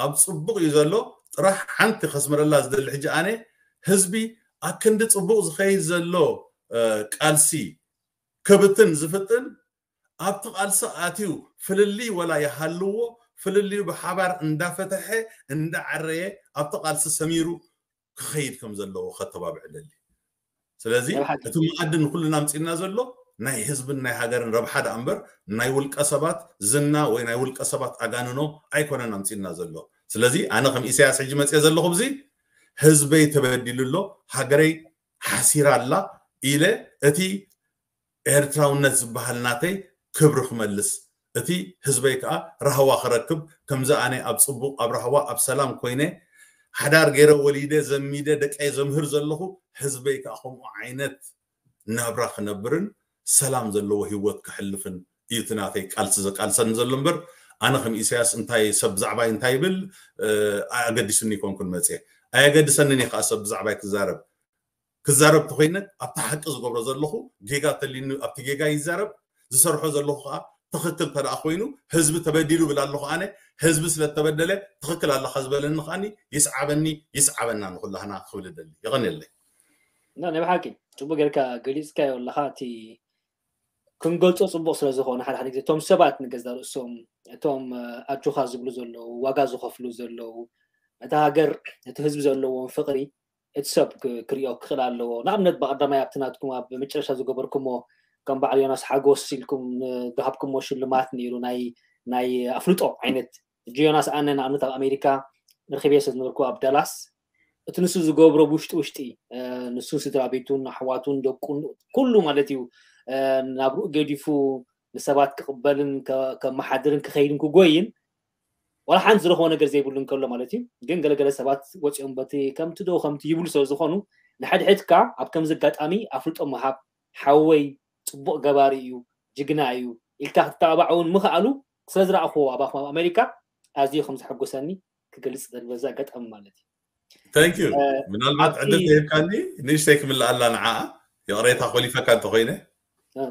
ኣብ ፅቡቕ እዩ ዘሎ። ጥራሕ ሓንቲ ከስምረላ ዝደሊ ሕጂ ኣነ ህዝቢ ኣክንዲ ፅቡቕ ዝኸይድ ዘሎ ቃልሲ ክብትን ዝፍጥን ኣብቲ ቃልሲ ኣትዩ ፍልልይ ወላ ይሃልዎ ፍልልዩ ብሓባር እንዳፈተሐ እንዳዓረየ ኣብቲ ቃልሲ ሰሚሩ ክኸይድ ከም ዘለዎ ከተባብዕ ደሊ። ስለዚ እቲ መኣዲ ንኩልና ኣምፂና ዘሎ ናይ ህዝብን ናይ ሃገርን ረብሓ ደኣ እምበር ናይ ውልቀ ሰባት ዝና ወይ ናይ ውልቀ ሰባት ኣጋንኖ ኣይኮነን ኣምፂና ዘሎ። ስለዚ ኣነ ከም ኢሳያስ ሕጂ መፅየ ዘለኹ ብዚ ህዝበይ ተበዲሉ ኣሎ፣ ሃገረይ ሓሲራ ኣላ ኢለ እቲ ኤርትራውነት ዝበሃል ናተይ ክብሪ ክመልስ፣ እቲ ህዝበይ ከዓ ራህዋ ክረክብ፣ ከምዚ ኣነ ኣብ ፅቡቕ ኣብ ራህዋ ኣብ ሰላም ኮይነ ሓዳር ገይረ ወሊደ ዘሚደ ደቀይ ዘምህር ዘለኹ ህዝበይ ከዓ ከምኡ ዓይነት ናብራ ክነብርን ሰላም ዘለዎ ህይወት ክሕልፍን እዩ እቲ ናተይ ቃልሲ ዘቃልሰኒ ዘሎ እምበር ኣነ ከም ኢሳያስ እንታይ ሰብ ብዛዕባይ እንታይ ይብል ኣገዲሱኒ ይኮንኩን መፅየ። ኣየገድሰንን እየ ከዓ ሰብ ብዛዕባይ ክዛረብ ክዛረብ ተኮይነ ኣብቲ ሓቂ ዝገብሮ ዘለኹ ጌጋ ተሊኒ ኣብቲ ጌጋ ይዛረብ ዝሰርሖ ዘለኹ ከዓ ትኽክል ተደኣ ኮይኑ ህዝቢ ተበዲሉ ብል ኣለኹ ኣነ ህዝቢ ስለተበደለ ትኽክል ኣለኻ ዝበለኒ ከዓኒ ይስዓበኒ ይስዓበና ንኩላህና ክብል ደሊ። የቐንየለይ። ናይ ብሓቂ ፅቡቅ ጌርካ ገሊፅካዮ ኣለኻ። እቲ ክንገልፆ ፅቡቅ ስለዝኾነ ሓደ ሓደ ግዜ እቶም ሰባት ንገዛ ርእሶም እቶም ኣጆኻ ዝብሉ ዘለዉ ዋጋ ዝኸፍሉ ዘለዉ ነታ ሃገር ነቲ ህዝቢ ዘለዎም ፍቅሪ እቲ ሰብ ክሪኦ ክኽእል ኣለዎ። ንኣብነት ብቀዳማይ ኣብቲ ናትኩም ኣብ መጨረሻ ዝገበርኩሞ ከም በዓል ዮናስ ሓጎስ ኢልኩም ዝሃብኩሞ ሽልማት ነይሩ ናይ ናይ ኣፍልጦ ዓይነት ሕጂ ዮናስ ኣነ ንኣብነት ኣብ ኣሜሪካ ርክብየ ስለ ዝነበርኩ ኣብ ዳላስ እቲ ንሱ ዝገብሮ ብውሽጢ ውሽጢ ንሱን ስድራ ቤቱን ኣሕዋቱን ደቁን ኩሉ ማለት እዩ ናብርኡ ገዲፉ ንሰባት ክቕበልን ከመሓድርን ክኸይድን ክጎይን ዋላ ሓንቲ ዝረኽቦ ነገር ዘይብሉ እንከሎ ማለት እዩ። ግን ገለገለ ሰባት ወፂኦም በቲ ከምቲ ዶ ከምቲ ይብሉ ስለ ዝኾኑ ንሕድሕድካ ኣብ ከምዚ ኣጋጣሚ ኣፍልጦ ምሃብ ሓወይ ፅቡቕ ገባሪ እዩ ጅግና እዩ ኢልካ ክትተባባዕ እውን ምኽኣሉ ስለ ዝረኣኽዎ ኣባኹም ኣብ ኣሜሪካ ኣዝዩ ከም ዘሐጎሰኒ ክገልፅ ደል በዚ ኣጋጣሚ ማለት እዩ። Thank you። ምናልባት ዕድል ተሂብካኒ ንእሽተይ ክምልኣላ ንዓኣ ይቕሬታ ኮሊፈካ እንተኮይነ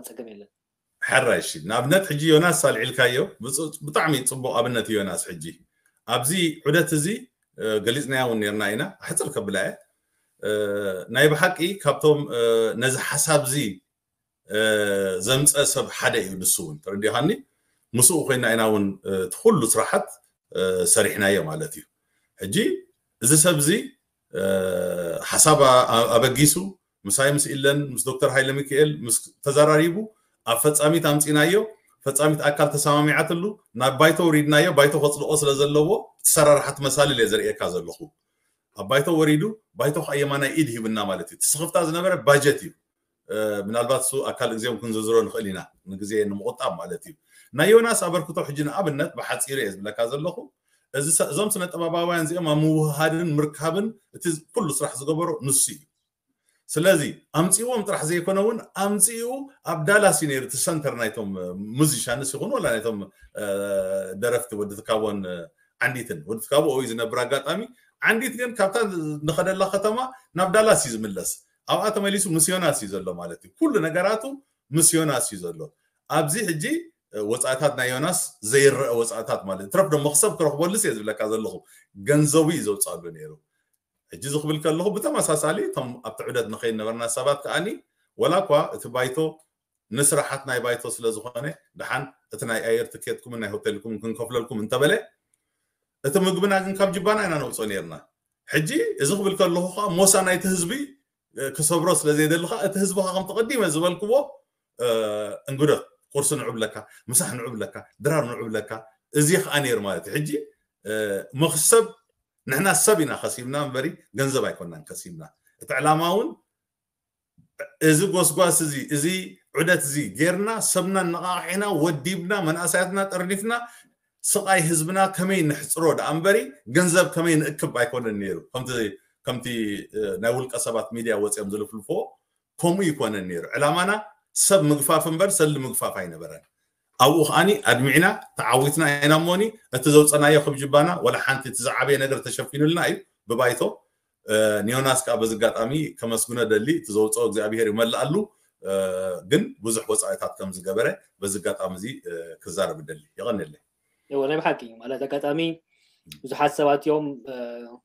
ፀገም የለን። ሕራይ እሺ ንኣብነት ሕጂ ዮናስ ኣልዒልካዮ ብጣዕሚ ፅቡቅ ኣብነት እዩ ዮናስ ሕጂ ኣብዚ ዑደት እዚ ገሊፅናያ እውን ነርና ኢና ኣሕፅር ከብላ እየ ናይ ብሓቂ ካብቶም ነዚ ሓሳብ እዚ ዘምፀ ሰብ ሓደ እዩ ንሱ እውን ተረዲኻኒ ምስኡ ኮይና ኢና እውን እቲ ኩሉ ስራሓት ሰሪሕናዮ ማለት እዩ ሕጂ እዚ ሰብ እዚ ሓሳብ ኣበጊሱ ምሳይ ምስ ኢለን ምስ ዶክተር ሃይለ ሚካኤል ምስ ተዘራሪቡ ኣብ ፈፃሚት ኣምፂናዮ ፈፃሚት ኣካል ተሰማሚዓትሉ ናብ ባይቶ ውሪድናዮ ባይቶ ከፅድቆ ስለ ዘለዎ እቲ ሰራርሓ ትመሳልል እየ ዘርእየካ ዘለኹ ኣብ ባይቶ ወሪዱ ባይቶ ከዓ የማናይ ኢድ ሂብና ማለት እዩ እቲ ስኽፍታ ዝነበረ ባጀት እዩ ምናልባት እሱ ኣካል እግዚኣብም ክንዝርዝሮ ንኽእል ኢና ንግዜ ንምቁጣብ ማለት እዩ ናይ ዮናስ ኣበርክቶ ሕጂ ንኣብነት ብሓፂሩ እየ ዝብለካ ዘለኹ እዞም ስነ ጥበባውያን እዚኦም ኣብ ምውህሃድን ምርካብን እቲ ኩሉ ስራሕ ዝገበሮ ንሱ እዩ ስለዚ ኣምፅእዎም ጥራሕ ዘይኮነ እውን ኣምፅኡ ኣብ ዳላስ እዩ ነይሩ እቲ ሰንተር ናይቶም ሙዚሻንስ ይኹን ወላ ናይቶም ደረፍቲ ወዲ ትካቦን ዓንዲትን ወዲ ትካቦ እዩ ዝነብር ኣጋጣሚ ዓንዲት ግን ካብታ ንኸደላ ከተማ ናብ ዳላስ እዩ ዝምለስ ኣብኣ ተመሊሱ ምስ ዮናስ እዩ ዘሎ ማለት እዩ ኩሉ ነገራቱ ምስ ዮናስ እዩ ዘሎ ኣብዚ ሕጂ ወፃእታት ናይ ዮናስ ዘይረአ ወፃእታት ማለት ትረፍ ዶ መክሰብ ክረክበሉስ እየ ዝብለካ ዘለኹ ገንዘቡ እዩ ዘውፅኣሉ ነይሩ ሕጂ ዝክብል ከለኹ ብተመሳሳሊ እቶም ኣብቲ ዑደት ንኸይድ ነበርና ሰባት ከዓኒ ወላ እኳ እቲ ባይቶ ንስራሓት ናይ ባይቶ ስለ ዝኾነ ደሓን እቲ ናይ ኣየር ትኬትኩምን ናይ ሆቴልኩምን ክንከፍለልኩም እንተበለ እቲ ምግብና ግን ካብ ጅባና ኢና ነውፅኦ ነርና ሕጂ እዚ ክብል ከለኹ ከዓ ሞሳ ናይቲ ህዝቢ ክሰብሮ ስለ ዘይደሊ ከዓ እቲ ህዝቢ ከዓ ከምቲ ቀዲመ ዝበልክዎ እንግዶት ቁርሲ ንዑ ብለካ ምሳሕ ንዑ ብለካ ድራር ንዑ ብለካ እዚ ከዓ ነይሩ ማለት እዩ ሕጂ መክሰብ ንሕና ሰብ ኢና ከሲብና እምበሪ ገንዘብ ኣይኮናን ከሲብና እቲ ዕላማ እውን እዚ ጎስጓስ እዚ፣ እዚ ዑደት እዚ ጌርና፣ ሰብና ነቓቒሕና፣ ወዲብና፣ መናእሰያትና ጠርኒፍና፣ ስቓይ ህዝብና ከመይ ንሕፅሮ ደኣ እምበሪ፣ ገንዘብ ከመይ ንእክብ ኣይኮነን ነይሩ። ከምቲ፣ ከምቲ፣ እ፣ ናይ ውልቀ ሰባት ሚድያ ወፂኦም ዝልፍልፍዎ፣ ከምኡ ይኮነን ነይሩ። ዕላማና ሰብ ምግፋፍ እምበር ሰሊ ምግፋፍ ኣይነበረን። ኣብኡ ከዓኒ ኣድሚዕና ተዓዊትና ኢና እሞኒ፣ እቲ ዘውፀናዮ ክብጅባና ወላ ሓንቲ፣ እቲ ዝዓበየ ነገር ተሸፊኑልና እዩ ብባይቶ። እ፣ ንዮናስ ከዓ በዚ ኣጋጣሚ ከመስግኖ ደሊ፣ እቲ ዘውፀኦ እግዚኣብሄር ይመልኣሉ። እ፣ ግን ብዙሕ ወፃኢታት ከም ዝገበረ በዚ ኣጋጣሚ እዚ፣ እ፣ ክዛረብ ደሊ። የቐንየለይ። እወ፣ ናይ ብሓቂ ማለት ኣጋጣሚ ብዙሓት ሰባት እዮም፣ እ፣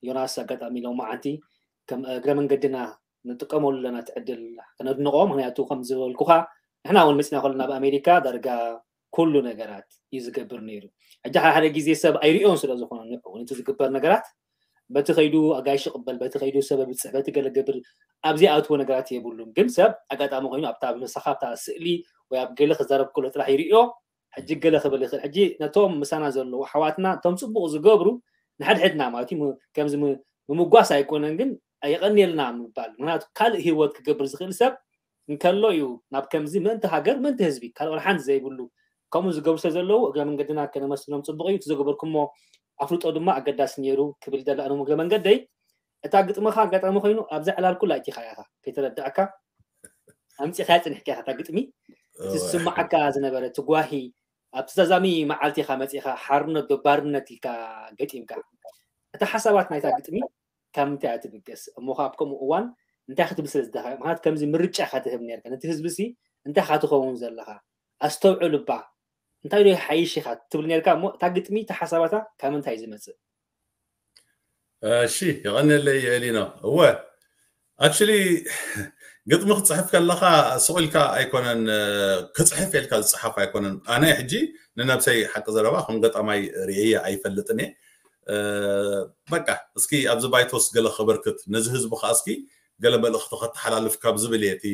ዮናስ ኣጋጣሚ ሎማዓንቲ ከም እግረ መንገድና ንጥቀመሉ ኣለና እቲ ዕድል ከነድንቖ። ምክንያቱ ከም ዝበልኩኻ ንሕና እውን መፂና ከለና ኣብ ኣሜሪካ ዳርጋ ኩሉ ነገራት እዩ ዝገብር ነይሩ። ሕጂ ሓደ ሓደ ግዜ ሰብ ኣይሪኦን ስለ ዝኾነ ንዑ እውን እቲ ዝግበር ነገራት በቲ ከይዱ ኣጋይሽ ይቕበል፣ በቲ ከይዱ ሰብ ብፅሕ፣ በቲ ገለ ገብር ኣብዚ ኣትዎ ነገራት የብሉን። ግን ሰብ ኣጋጣሚ ኮይኑ ኣብታ ምሳኻ ኣብታ ስእሊ ወይ ኣብ ገለ ክዛረብ ከሎ ጥራሕ ይርእዮ። ሕጂ ገለ ክብል ይኽእል። ሕጂ ነቶም ምሳና ዘለዉ ኣሕዋትና እቶም ፅቡቕ ዝገብሩ ንሓድሕድና ማለት እዩ ም-፣ ከምዚ ም-፣ ምምጓስ ኣይኮነን፣ ግን የቐንየልና ምባል። ምክንያቱ ካልእ ህይወት ክገብር ዝኽእል ሰብ እንከሎ እዩ ናብ ከምዚ ምእንቲ ሃገር፣ ምእንቲ ህዝቢ፣ ካልእ ወላ ሓንቲ ዘይብሉ ከምኡ ዝገብሩ ስለ ዘለዉ እግረ መንገድና ከነመስግኖም ፅቡቕ እዩ። እቲ ዝገበርኩሞ ኣፍልጦ ድማ ኣገዳሲ ነይሩ ክብል ይደሊ። ኣነ እውን እግረ መንገደይ እታ ግጥምኻ ኣጋጣሚ ኮይኑ ኣብዛ ዕላል ኩላ ኣእቲኻ ኢኻ፣ ከይተረዳእካ ኣምጺኻ ጽኒሕካ ኢኻ እታ ግጥሚ። እቲ እወ። ዝስምዓካ ዝነበረ እቲ ጓሂ ኣብቲ ዛዛሚ መዓልቲ ኢኻ መጺኻ ሓርነት ዶ ባርነት ኢልካ ገጢምካ። እታ ሓሳባት ናይታ ግጥሚ ካብ ምንታይ እያ ትብገስ? እሞ ኸኣ ኣብ ከምኡ እዋን እንታይ ክትብል ስለ ዝደኸ-፣ ምኽንያቱ ከምዚ ምርጫ ኢኻ ትህብ ነርካ። ነቲ ህዝቢ ሲ እንታይ ኢኻ ትኸውን ዘለኻ? ኣስተውዕል እባ። እንታይ ዶ ይሓይሽ ኢኻ ትብል ነርካ እሞ እታ ግጥሚ እታ ሓሳባታ ካብ ምንታይ እዩ ዝመጽእ? እሺ፣ የቐንየለይ ኤሊኖ። እወ፣ ኣክቹሊ ግጥሚ ክጽሕፍ ከለኻ ስቕ ኢልካ ኣይኮነን፣ እ፣ ክጽሕፍ ኢልካ ዝጽሓፍ ኣይኮነን። ኣነ ሕጂ ንነብሰይ ሓቂ ዘረባ ከም ገጣማይ ርእየ ኣይፈልጥን እየ። እ፣ በቃ እስኪ ኣብዚ ባይቶስ ገለ ከበርክት፣ ነዚ ህዝቢ ከኣ እስኪ ገለ መልእኽቲ ከተሓላልፍ ካብ ዝብል እየ እቲ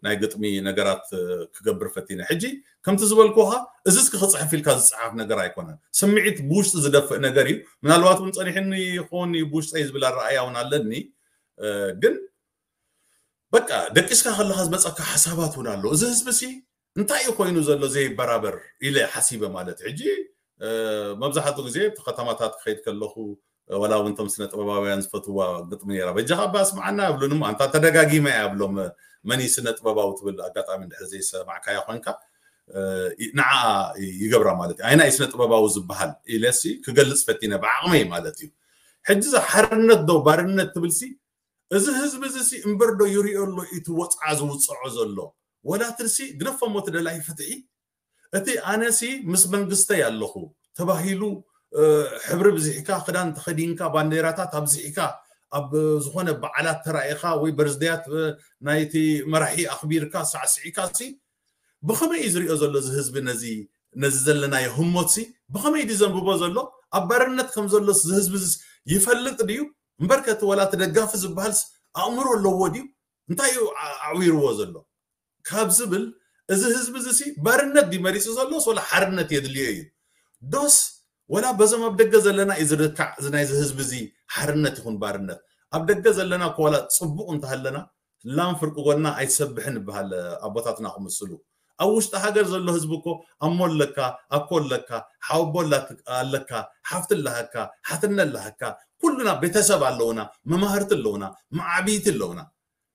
ናይ ግጥሚ ነገራት፣ እ፣ ክገብር ፈቲነ። ሕጂ ከምቲ ዝበልኩኻ እዚ እስኪ ክጽሕፍ ኢልካ ዝጽሓፍ ነገር ኣይኮነን። ስምዒት ብውሽጢ ዝደፍእ ነገር እዩ። ምናልባት እውን ጸኒሕኒ ይኸውን እዩ ብውሽጠይ ዝብል ኣረኣእያ እውን ኣለኒ። እ፣ ግን በቃ ደቂስካ ከለኻ ዝመጸካ ሓሳባት እውን ኣሎ። እዚ ህዝቢ ሲ እንታይ እዩ ኮይኑ ዘሎ ዘይበራበር ኢለ ሓሲበ ማለት እዩ። ሕጂ፣ እ፣ መብዛሕትኡ ግዜ እቲ ከተማታት ክኸይድ ከለኹ፣ እ፣ ወላ እውን እቶም ስነ ጥበባውያን ዝፈትዋ ግጥሚ ነይራ። በጃኻ እባ ስምዓና ይብሉኒ እሞ፣ ኣንታ ተደጋጊመ እያ ብሎም፣ መን እዩ ስነ ጥበባዊ ትብል ኣጋጣሚ እንድሕር ዘይሰማዕካያ ኮንካ፣ እ፣ ንዓኣ ይገብራ ማለት እዩ። ኣይና እዩ ስነ ጥበባዊ ዝበሃል ኢለሲ ክገልጽ ፈቲነ ብዓቕመይ ማለት እዩ። ሕጂ እዛ ሓርነት ዶ ባርነት ትብልሲ፣ እዚ ህዝቢ እዚ ሲ እምበር ዶ ይሪኦ ኣሎ እቲ ወፅዓ ዝውፅዖ ዘሎ? ወላ ትርሲ ግደፎ እሞ እቲ ደላይ ፍትሒ። እቲ ኣነሲ ምስ መንግስተይ ኣለኹ ተባሂሉ፣ እ፣ ሕብሪ ብዚሕካ፣ ክዳን ተኸዲንካ፣ ባንዴራታት ኣብዚሕካ፣ ኣብ ዝኾነ በዓላት ተራኢኻ ወይ በርዝደያት፣ እ፣ ናይቲ መራሒ ኣኽቢርካ፣ ሳዕስዒካ ሲ ብኸመይ እዩ ዝሪኦ ዘሎ እዚ ህዝቢ ነዚ፣ ነዚ ዘለናዮ ህሞት ሲ ብኸመይ ድዩ ዘንብቦ ዘሎ? ኣብ ባርነት ከም ዘሎስ እዚ ህዝቢ እዚስ ይፈልጥ ድዩ? እምበርከ እቲ ወላ እቲ ደጋፊ ዝበሃልስ ኣእምሮ ኣለዎ ድዩ? እንታይ እዩ ዓ-፣ ኣዕዊርዎ ዘሎ? ካብ ዝብል፣ እዚ ህዝቢ እዚ ሲ ባርነት ድዩ መሪጹ ዘሎስ ወላ ሓርነት የድልዮ እዩ? ዶስ ወላ በዞም ኣብ ደገ ዘለና እዩ ዝርካዕ፣ እዚ ናይዚ ህዝቢ እዚ ሓርነት ይኹን ባርነት? ኣብ ደገ ዘለና እኮ ዋላ ጽቡቕ እንተሃለና፣ ላም ፍርቂ ጎና ኣይትሰብሕን ይበሃል ኣቦታትና ክምስሉ። ኣብ ውሽጢ ሃገር ዘሎ ህዝቢ እኮ ኣሞ ኣለካ፣ ኣኮ ኣለካ፣ ሓወቦ ኣላት-፣ ኣለካ፣ ሓፍቲ ኣለሃካ፣ ሓትነ ኣለሃካ፣ ኩሉና ቤተሰብ ኣለውና፣ መማህርቲ ኣለውና፣ መዓብይቲ ኣለውና።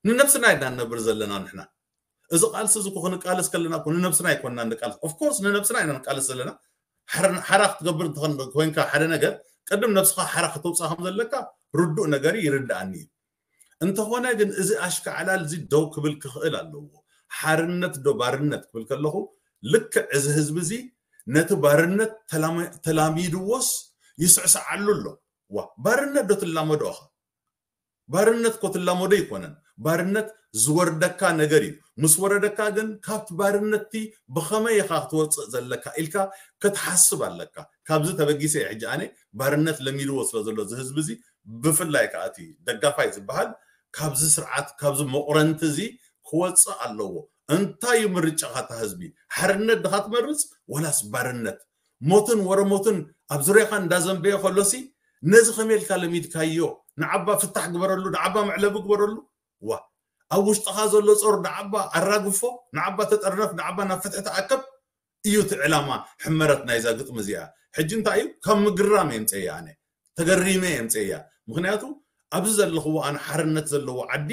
ንነብስና ኢና ንነብር ዘለና ንሕና። እዚ ቃልሲ እዚ እኮ ክንቃለስ ከለና እኮ ንነብስና ኣይኮንና ንቃለስ። ኦፍ ኮርስ ንነብስና ኢና ንቃለስ ዘለና። ሓረ-፣ ሓራ ክትገብር እንተኾን-፣ ኮይንካ ሓደ ነገር፣ ቅድም ነብስኻ ሓራ ከተውፅኣ ከም ዘለካ ርዱእ ነገር እዩ፣ ይርድኣኒ እዩ። እንተኾነ ግን እዚ ኣሽካዕላል እዚ ደው ክብል ክኽእል ኣለዎ። ሓርነት ዶ ባርነት ክብል ከለኹ ልክዕ እዚ ህዝቢ እዚ ነቲ ባርነት ተላመ-፣ ተላሚድዎስ ይስዕስዓሉ ኣሎ። ዋ፣ ባርነት ዶ ትላመዶ ኢኻ? ባርነት እኮ ትላመዶ ኣይኮነን። ባርነት ዝወርደካ ነገር እዩ። ምስ ወረደካ ግን ካብቲ ባርነትቲ ብኸመይ ኢኻ ክትወፅእ ዘለካ ኢልካ ክትሓስብ ኣለካ። ካብዚ ተበጊሰ እየ ሕጂ ኣነ ባርነት ለሚድዎ ስለ ዘሎ እዚ ህዝቢ እዚ፣ ብፍላይ ከዓ እቲ ደጋፋይ ዝበሃል ካብዚ ስርዓት፣ ካብዚ መቑረንቲ እዚ ክወፅእ ኣለዎ። እንታይ እዩ ምርጫኻ እታ ህዝቢ? ሓርነት ድኻ ትመርፅ ወላስ ባርነት? ሞትን ወረ ሞትን ኣብ ዙርያኻ እንዳዘንበየ ከሎሲ ነዚ ከመይ ኢልካ ለሚድካዮ? ንዓባ ፍታሕ ግበረሉ፣ ንዓባ መዕለቢ ግበረሉ። ዋ ኣብ ውሽጥኻ ዘሎ ጾር ንዓባ ኣራግፎ፣ ንዓባ ተጠርነፍ፣ ንዓባ ናብ ፍትሒ ተኣከብ እዩ እቲ ዕላማ ሕመረት ናይዛ ግጥሚ እዚኣ። ሕጂ እንታይ እዩ ካብ ምግራም የምፀያ ኣነ ተገሪመ የምፀያ። ምክንያቱ ኣብዚ ዘለኽዎ ኣነ ሓርነት ዘለዎ ዓዲ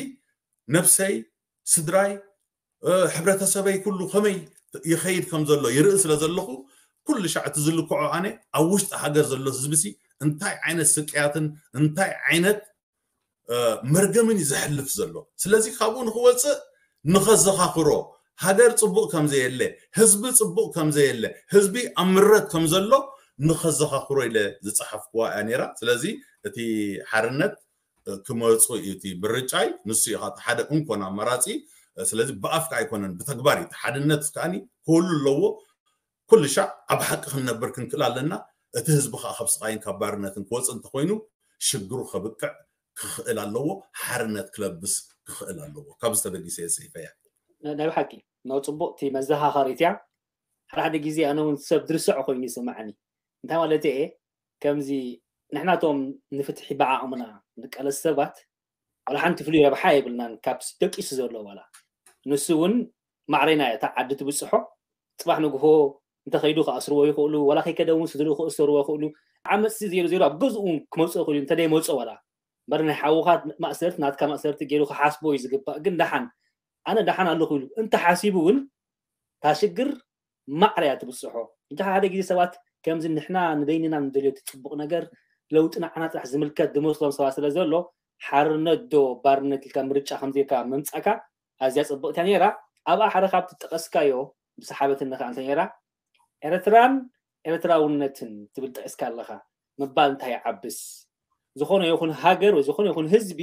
ነብሰይ፣ ስድራይ፣ ሕብረተሰበይ ኩሉ ከመይ ይኸይድ ከም ዘሎ ይርኢ ስለ ዘለኹ ኩሉ ሻዕ እቲ ዝልክዖ ኣነ ኣብ ውሽጢ ሃገር ዘሎ ህዝቢ ሲ እንታይ ዓይነት ስቅያትን እንታይ ዓይነት መርገምን እዩ ዘሕልፍ ዘሎ። ስለዚ ካብኡ ንክወፅእ ንኸዘኻኽሮ ሃገር ፅቡቕ ከም ዘየለ፣ ህዝቢ ፅቡቕ ከም ዘየለ፣ ህዝቢ ኣብ ምረት ከም ዘሎ ንኸዘኻኽሮ ኢለ ዝፀሓፍኩዋ እያ ነይራ። ስለዚ እቲ ሓርነት ክመፁ እዩ እቲ ምርጫይ። ንሱ እዩ ሓደ እንኮን ኣማራፂ። ስለዚ ብኣፍ ከዓ ኣይኮነን ብተግባር እዩ። እቲ ሓድነት ከዓኒ ክህሉ ኣለዎ። ኩሉ ሻዕ ኣብ ሓቂ ክንነብር ክንክእል ኣለና። እቲ ህዝቢ ከዓ ካብ ስቃይን ካብ ባርነትን ክወፅእ እንተኮይኑ ሽግሩ ከብቅዕ ክኽእል ኣለዎ። ሓርነት ክለብስ ክኽእል ኣለዎ። ካብ ዝተበጊሰ እየ ፅሒፈያ። ናይ ብሓቂ ነው ፅቡቅ እቲ መዘኻኸሪት እያ። ሓደ ሓደ ግዜ ኣነ እውን ሰብ ድርሰዖ ኮይኑ ይስማዓኒ። እንታይ ማለት እየ ከምዚ ንሕናቶም ንፍትሒ ብዓቕምና ንቃለስ ሰባት ዋላ ሓንቲ ፍሉይ ረብሓ የብልናን ካብ ደቂሱ ዘሎ ዋላ ንሱ እውን ማዕረና እያ እታ ዓዲ ትብፅሖ። ፅባሕ ንግሆ እንተኸይዱ ክኣስርዎ ይኽእሉ፣ ዋላ ከይከደ እውን ስድርኡ ክእሰርዎ ይኽእሉ። ዓመፅቲ ዜሩ ዜሩ ኣብ ገዝኡ እውን ክመፅኦ ይኽእሉ እንተደይመፅኦ ዋላ እምበር ናይ ሓውኻ ማእሰርቲ ናትካ ማእሰርቲ ገይሩ ክሓስቦ እዩ ዝግባእ። ግን ደሓን ኣነ ደሓን ኣለኹ ኢሉ እንተሓሲቡ እውን እታ ሽግር ማዕረ እያ ትብፅሖ። እንተ ሓደ ግዜ ሰባት ከምዚ ንሕና ንበይንና ንደልዮ እቲ ፅቡቕ ነገር ለውጢ ንዓና ጥራሕ ዝምልከት ዝመስሎም ሰባት ስለ ዘሎ ሓርነት ዶ ባርነት ኢልካ ምርጫ ከምዘይካ ምምፃእካ ኣዝያ ፅብቕቲ እያ ነይራ። ኣብኣ ሓደ ካብ ትጠቐስካዮ ብሰሓበትኒ ከዓ እንታይ ነይራ ኤርትራን ኤርትራውነትን ትብል ጠቂስካ ኣለኻ ምባል እንታይ ይዓብስ? ዝኾነ ይኹን ሃገር ወይ ዝኾነ ይኹን ህዝቢ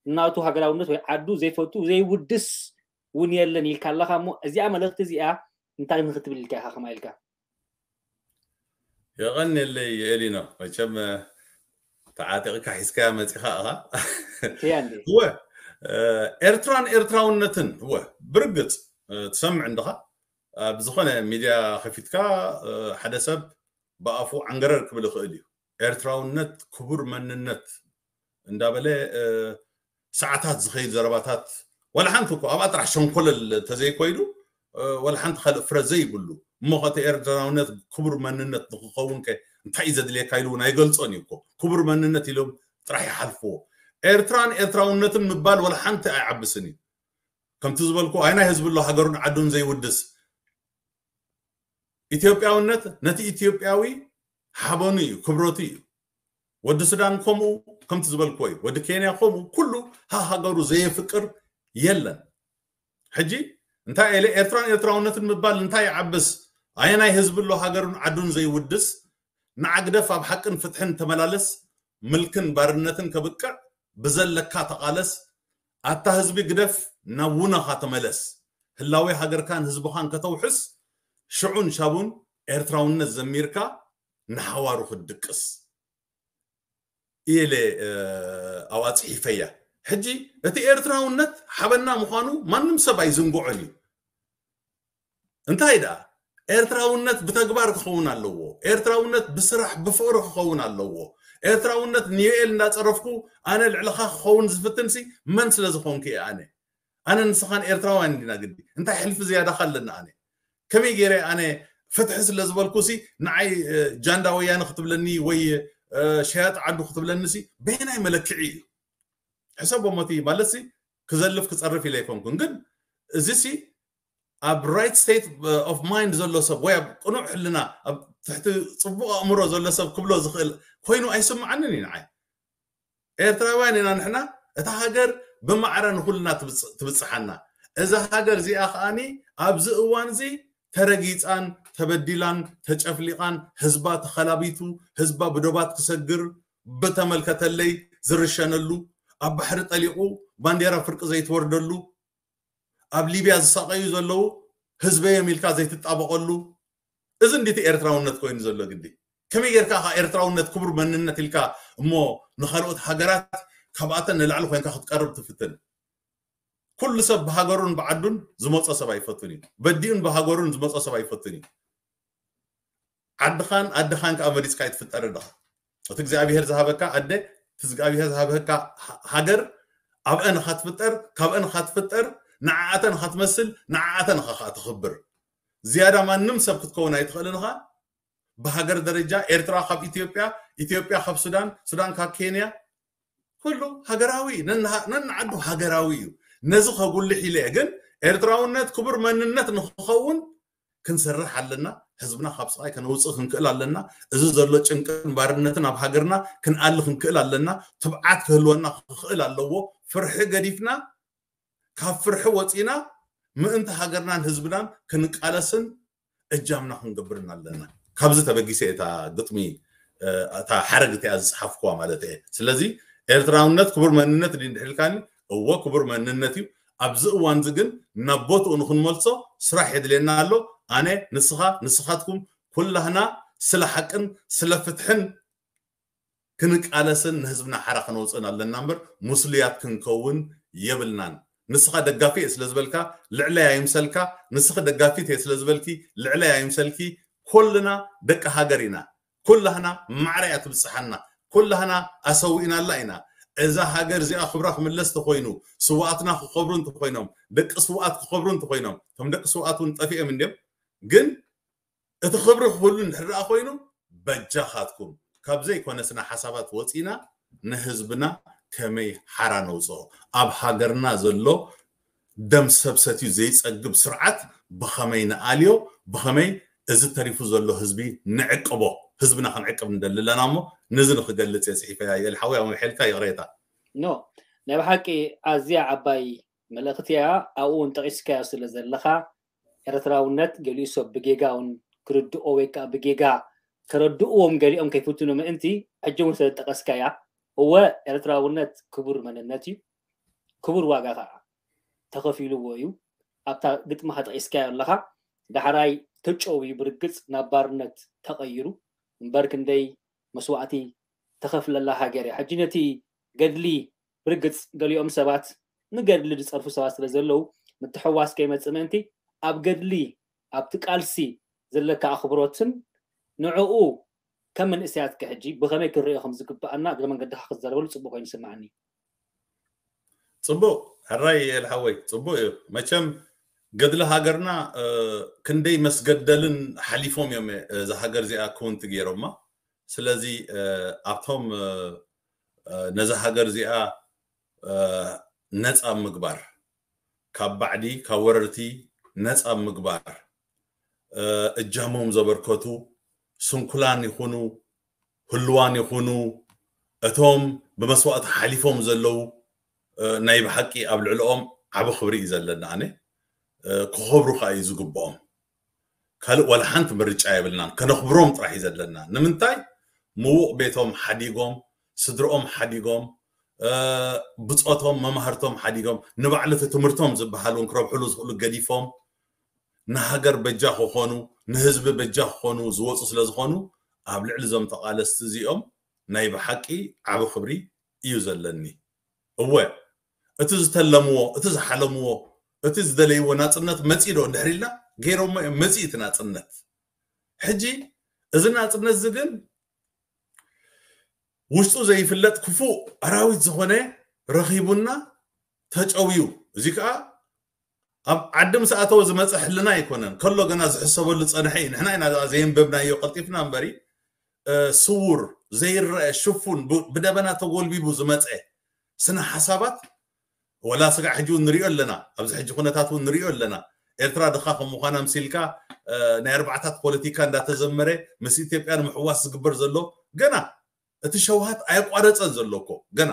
እናቱ ሃገራውነት ወይ ዓዱ ዘይፈቱ ዘይውድስ እውን የለን ኢልካ ኣለኻ እሞ እዚኣ መልእኽቲ እዚኣ እንታይ ንክትብል ኢልካ ኢኻ ከማ ኢልካ? የቐንየለይ ኤሊኖ፣ መቸም ተዓጢቕካ ሒዝካያ መፂኻ ኢኻ። እወ ኤርትራን ኤርትራውነትን እወ ብርግፅ ትሰምዕ እንድኻ ኣብ ዝኾነ ሚድያ ከፊትካ ሓደ ሰብ ብኣፉ ዓንገረር ክብል ይኽእል እዩ። ኤርትራውነት ክቡር መንነት እንዳበለ ሰዓታት ዝኸይድ ዘረባታት ዋላ ሓንቲ እኮ ኣብኣ ጥራሕ ሸንኮለል ተዘይኮይዱ ዋላ ሓንቲ ካልእ ፍረ ዘይብሉ እሞ ከተ ኤርትራውነት ክቡር መንነት ንክኸውን ከ እንታይ እዩ ዘድልየካ ኢሉ እውን ኣይገልጾን እዩ እኮ። ክቡር መንነት ኢሎም ጥራሕ ይሓልፍዎ። ኤርትራን ኤርትራውነትን ምባል ዋላ ሓንቲ ኣይዓብስን እዩ። ከምቲ ዝበልኩ ኣይናይ ህዝቢ ኣሎ ሃገሩን ዓዱን ዘይውድስ ኢትዮጵያውነት ነቲ ኢትዮጵያዊ ሓበኑ እዩ፣ ክብረቱ እዩ። ወዲ ሱዳን ከምኡ ከምቲ ዝበልክዎ እዩ። ወዲ ኬንያ ከምኡ ኩሉ ሃሃገሩ ዘየፍቅር የለን። ሕጂ እንታይ ኢለ ኤርትራን ኤርትራውነትን ምባል እንታይ ይዓብስ? ኣየናይ ህዝቢ ኣሎ ሃገሩን ዓዱን ዘይውድስ ንዓግደፍ ኣብ ሓቅን ፍትሕን ተመላለስ ምልክን ባርነትን ከብቅዕ ብዘለካ ተቓለስ። ኣታ ህዝቢ ግደፍ ናብ ውነኻ ተመለስ። ህላዌ ሃገርካን ህዝብኻን ከተውሕስ ሽዑን ሻቡን ኤርትራውነት ዘሚርካ ንሓዋሩ ክትድቅስ ኢለ ኣብኣ ፅሒፈያ። ሕጂ እቲ ኤርትራውነት ሓበና ምዃኑ ማንም ሰብ ኣይዝንግዖን እዩ። እንታይ ደኣ ኤርትራውነት ብተግባር ክኸውን ኣለዎ። ኤርትራውነት ብስራሕ ብፍቕሪ ክኸውን ኣለዎ። ኤርትራውነት ንዮኤል እንዳፀረፍኩ ኣነ ልዕልኻ ክኸውን ዝፍትንሲ መን ስለ ዝኾንኩ እየ ኣነ ኣነ ንስኻን ኤርትራውያን እንዲና ግዲ እንታይ ሕልፊ ዝያዳኻ ኣለና ኣነ ከመይ ገይረ ኣነ ፍትሒ ስለ ዝበልኩ ሲ ንዓይ ጃንዳ ወያነ ክትብለኒ ወይ ሸያጥ ዓዱ ክትብለኒ ሲ በየናይ መለክዒ እዩ ሕሰቦ ሞቲ ማለት ሲ ክዘልፍ ክጸርፍ ኢለ ኣይኮንኩን ግን እዚ ሲ ኣብ right state of mind ዘሎ ሰብ ወይ ኣብ ቅኑዕ ሕልና ኣብ ትሕቲ ጽቡቕ ኣእምሮ ዘሎ ሰብ ክብሎ ዝኽእል ኮይኑ ኣይስምዓንን እዩ ንዓይ ኤርትራውያን ኢና ንሕና እታ ሃገር ብማዕረ ንኩልና ትብጽሓና እዛ ሃገር እዚኣ ከዓኒ ኣብዚ እዋን እዚ ተረጊጻን ተበዲላን ተጨፍሊቓን ህዝባ ተኸላቢቱ ህዝባ ብዶባት ክሰግር ብተመልከተለይ ዝርሸነሉ ኣብ ባሕሪ ጠሊቑ ባንዴራ ፍርቂ ዘይትወርደሉ ኣብ ሊብያ ዝሳቐዩ ዘለዉ ህዝበዮም ኢልካ ዘይትጣበቐሉ እዚ እንዲቲ ኤርትራውነት ኮይኑ ዘሎ ግዲ ከመይ ጌርካ ካ ኤርትራውነት ክቡር መንነት ኢልካ እሞ ንኻልኦት ሃገራት ካብኣተን ንላዕሊ ኮይንካ ክትቀርብ ትፍትን ኩሉ ሰብ ብሃገሩን ብዓዱን ዝመፆ ሰብ ኣይፈቱን እዩ በዲኡን ብሃገሩን ዝመፆ ሰብ ኣይፈቱን እዩ ዓድኻን ኣድኻን ከዓ መሪፅካ ይትፍጠር ኣለኻ እቲ እግዚኣብሄር ዝሃበካ ኣደ እቲ እግዚኣብሄር ዝሃበካ ሃገር ኣብአን ኻትፍጠር፣ ካብአን ኻትፍጠር፣ ንዓኣተን ኻትመስል፣ ንዓኣተን ኻ ኻትኽብር። ዝያዳ ማንም ሰብ ክትከውን ኣይትኽእልን ኻ። ብሃገር ደረጃ ኤርትራ ካብ ኢትዮጵያ፣ ኢትዮጵያ ካብ ሱዳን፣ ሱዳን ካብ ኬንያ፣ ኩሉ ሃገራዊ እዩ። ነንሃ-፣ ነንዓዱ ሃገራዊ እዩ። ነዚ ኸጉልሕ ኢለ እየ። ግን ኤርትራውነት ክቡር መንነት ንኽኸውን ክንሰርሕ ኣለና። ህዝብና ካብ ስቓይ ከነውፅእ ክንክእል ኣለና። እዚ ዘሎ ጭንቅን ባርነትን ኣብ ሃገርና ክንኣሊ ክንክእል ኣለና። ትብዓት ክህልወና ክኽእል ኣለዎ። ፍርሒ ገዲፍና፣ ካብ ፍርሒ ወፂና ምእንቲ ሃገርናን ህዝብናን ክንቃለስን እጃምና ክንገብርን ኣለና። ካብዚ ተበጊሰ እየ እታ ግጥሚ፣ እ፣ እታ ሓረግ እቲኣ ዝፀሓፍኩዋ ማለት እየ። ስለዚ ኤርትራውነት ክቡር መንነት ድዩ እንድሕር ኢልካኒ፣ እወ ክቡር መንነት እዩ። ኣብዚ እዋን እዚ ግን ናብ ቦትኡ ንክንመልሶ ስራሕ የድልየና ኣሎ። ኣነ፣ ንስኻ፣ ንስኻትኩም ኩላህና ስለ ሓቅን ስለ ፍትሕን ክንቃለስን ንህዝብና ሓራ ከነውፅእን ኣለና እምበር ሙስሉያት ክንከውን የብልናን። ንስኻ ደጋፊ እየ ስለ ዝበልካ ልዕለይ ኣይምሰልካ፣ ንስኺ ደጋፊት እየ ስለ ዝበልኪ ልዕለይ ኣይምሰልኪ። ኩልና ደቂ ሃገር ኢና። ኩላህና ማዕረ እያ ትብፅሓና። ኩላህና ኣሰዊእናላ ኢና። እዛ ሃገር እዚኣ ክብራ ክምለስ ተኮይኑ፣ ስውኣትና ክኸብሩ እንተኮይኖም፣ ደቂ ስውኣት ክኸብሩ እንተኮይኖም፣ እቶም ደቂ ስውኣት እውን ጠፊኦም እንድዮም። ግን እቲ ክብሪ ክህሉ እንድሕር ደኣ ኮይኑ፣ በጃኻትኩም ካብ ዘይኮነ ስነ ሓሳባት ወፂና ንህዝብና ከመይ ሓራ ነውፅኦ፣ ኣብ ሃገርና ዘሎ ደም ሰብ ሰትዩ ዘይፀግብ ስርዓት ብኸመይ ንኣልዮ፣ ብኸመይ እዚ ተሪፉ ዘሎ ህዝቢ ንዕቅቦ፣ ህዝብና ክንዕቅብ ንደሊ ኣለና። እሞ ነዚ ንክገልፅ እየ ፅሒፈያ። ይእል ሓወይ፣ ኣመ ሐልካ ይቕሬታ። ኖ፣ ናይ ብሓቂ ኣዝያ ዓባይ መልእኽቲ እያ። ኣብኡ እውን ጠቒስካዮ ስለ ዘለኻ፣ ኤርትራውነት ገሊኡ ሰብ ብጌጋ እውን ክርድኦ ወይ ከዓ ብጌጋ ከረድእዎም ገሊኦም ከይፍትኑ ምእንቲ፣ ሕጂ እውን ስለ ዝጠቐስካያ፣ እወ፣ ኤርትራውነት ክቡር መንነት እዩ፣ ክቡር ዋጋ ከዓ ተኸፊልዎ እዩ። ኣብታ ግጥምኻ ጠቒስካዮ ኣለኻ፣ ዳሕራይ ተጨውዩ ብርግጽ ናብ ባርነት ተቐይሩ፣ እምበር ክንደይ መስዋእቲ ተኸፍለላ ሃገር እያ። ሕጂ ነቲ ገድሊ ብርግጽ ገሊኦም ሰባት ንገድሊ ዝጸርፉ ሰባት ስለ ዘለዉ፣ ምትሕዋስ ከይመጽእ ምእንቲ፣ ኣብ ገድሊ፣ ኣብቲ ቃልሲ ዘለካ ኣኽብሮትን ንዕኡ ከም መንእሰያት ከ ሕጂ ብኸመይ ክንሪኦ ከም ዝግብኣና እግረ መንገድኻ ክትዛረበሉ ጽቡቕ ኮይኑ ይስምዓኒ። ጽቡቕ፣ ሕራይ ኤልሓወይ፣ ጽቡቕ እዩ። መቸም ገድሊ ሃገርና፣ እ፣ ክንደይ መስገደልን ሓሊፎም እዮም፣ እ፣ እዛ ሃገር እዚኣ ክውንቲ ገይሮማ። ስለዚ፣ እ፣ ኣብቶም፣ እ፣ እ፣ ነዛ ሃገር እዚኣ፣ እ፣ ነጻ ምግባር፣ ካብ ባዕዲ፣ ካብ ወረርቲ ነጻ ምግባር፣ እ፣ እጃሞም ዘበርከቱ፣ ስንኩላን ይኹኑ፣ ህልዋን ይኹኑ፣ እቶም ብመስዋእቲ ሓሊፎም ዘለዉ፣ እ፣ ናይ ብሓቂ ኣብ ልዕሊኦም ዓቢ ክብሪ እዩ ዘለና። ኣነ፣ እ፣ ክኸብሩ ከኣ እዩ ዝግብኦም። ካልእ ዋላ ሓንቲ ምርጫ የብልናን። ከነኽብሮም ጥራሕ እዩ ዘለና። ንምንታይ? ምዉቕ ቤቶም ሓዲጎም፣ ስድርኦም ሓዲጎም፣ እ፣ ብጾቶም፣ መማህርቶም ሓዲጎም፣ ንባዕሉ እቲ ትምህርቶም ዝበሃል እውን ክረብሕሉ ዝኽእሉ ገዲፎም፣ ንሃገር በጃ ክኾኑ፣ ንህዝቢ በጃ ክኾኑ ዝወፁ ስለ ዝኾኑ፣ ኣብ ልዕሊ እዞም ተቓለስቲ እዚኦም ናይ ብሓቂ ዓቢ ክብሪ እዩ ዘለኒ። እወ፣ እቲ ዝተለምዎ፣ እቲ ዝሓለምዎ፣ እቲ ዝደለይዎ ናጽነት መጺእ ዶ እንድሕር ኢልና፣ ገይሮሞ እዮም፣ መጺእ እቲ ናጽነት። ሕጂ እዚ ናጽነት እዚ ግን ውሽጡ ዘይፍለጥ ክፉእ ኣራዊት ዝኾነ ረኺቡና ተጨውዩ። እዚ ከኣ ኣብ ዓዲ ምስ ኣተወ ዝመጸ ሕልና ኣይኮነን። ከሎ ገና ዝሕሰበሉ ዝጸንሐ እዩ። ንሕና ኢና ደኣ ዘየንበብናዮ ቀልጢፍና እምበሪ፣ እ፣ ስዉር፣ ዘይረአ፣ ሽፉን፣ ብ-፣ ብደበና ተጎልቢቡ ዝመጸ ስነ ሓሳባት፣ ወላ ስጋዕ ሕጂ እውን ንሪኦ ኣለና። ኣብዚ ሕጂ ኩነታት እውን ንሪኦ ኣለና። ኤርትራ ድኻ ከም ምዃና ምሲልካ፣ እ፣ ናይ ኣርባዕታት ፖለቲካ እንዳተዘመረ ምስ ኢትዮጵያ ንምሕዋስ ዝግበር ዘሎ ገና እቲ ሸውሃት ኣየቋረጸን ዘሎ እኮ ገና።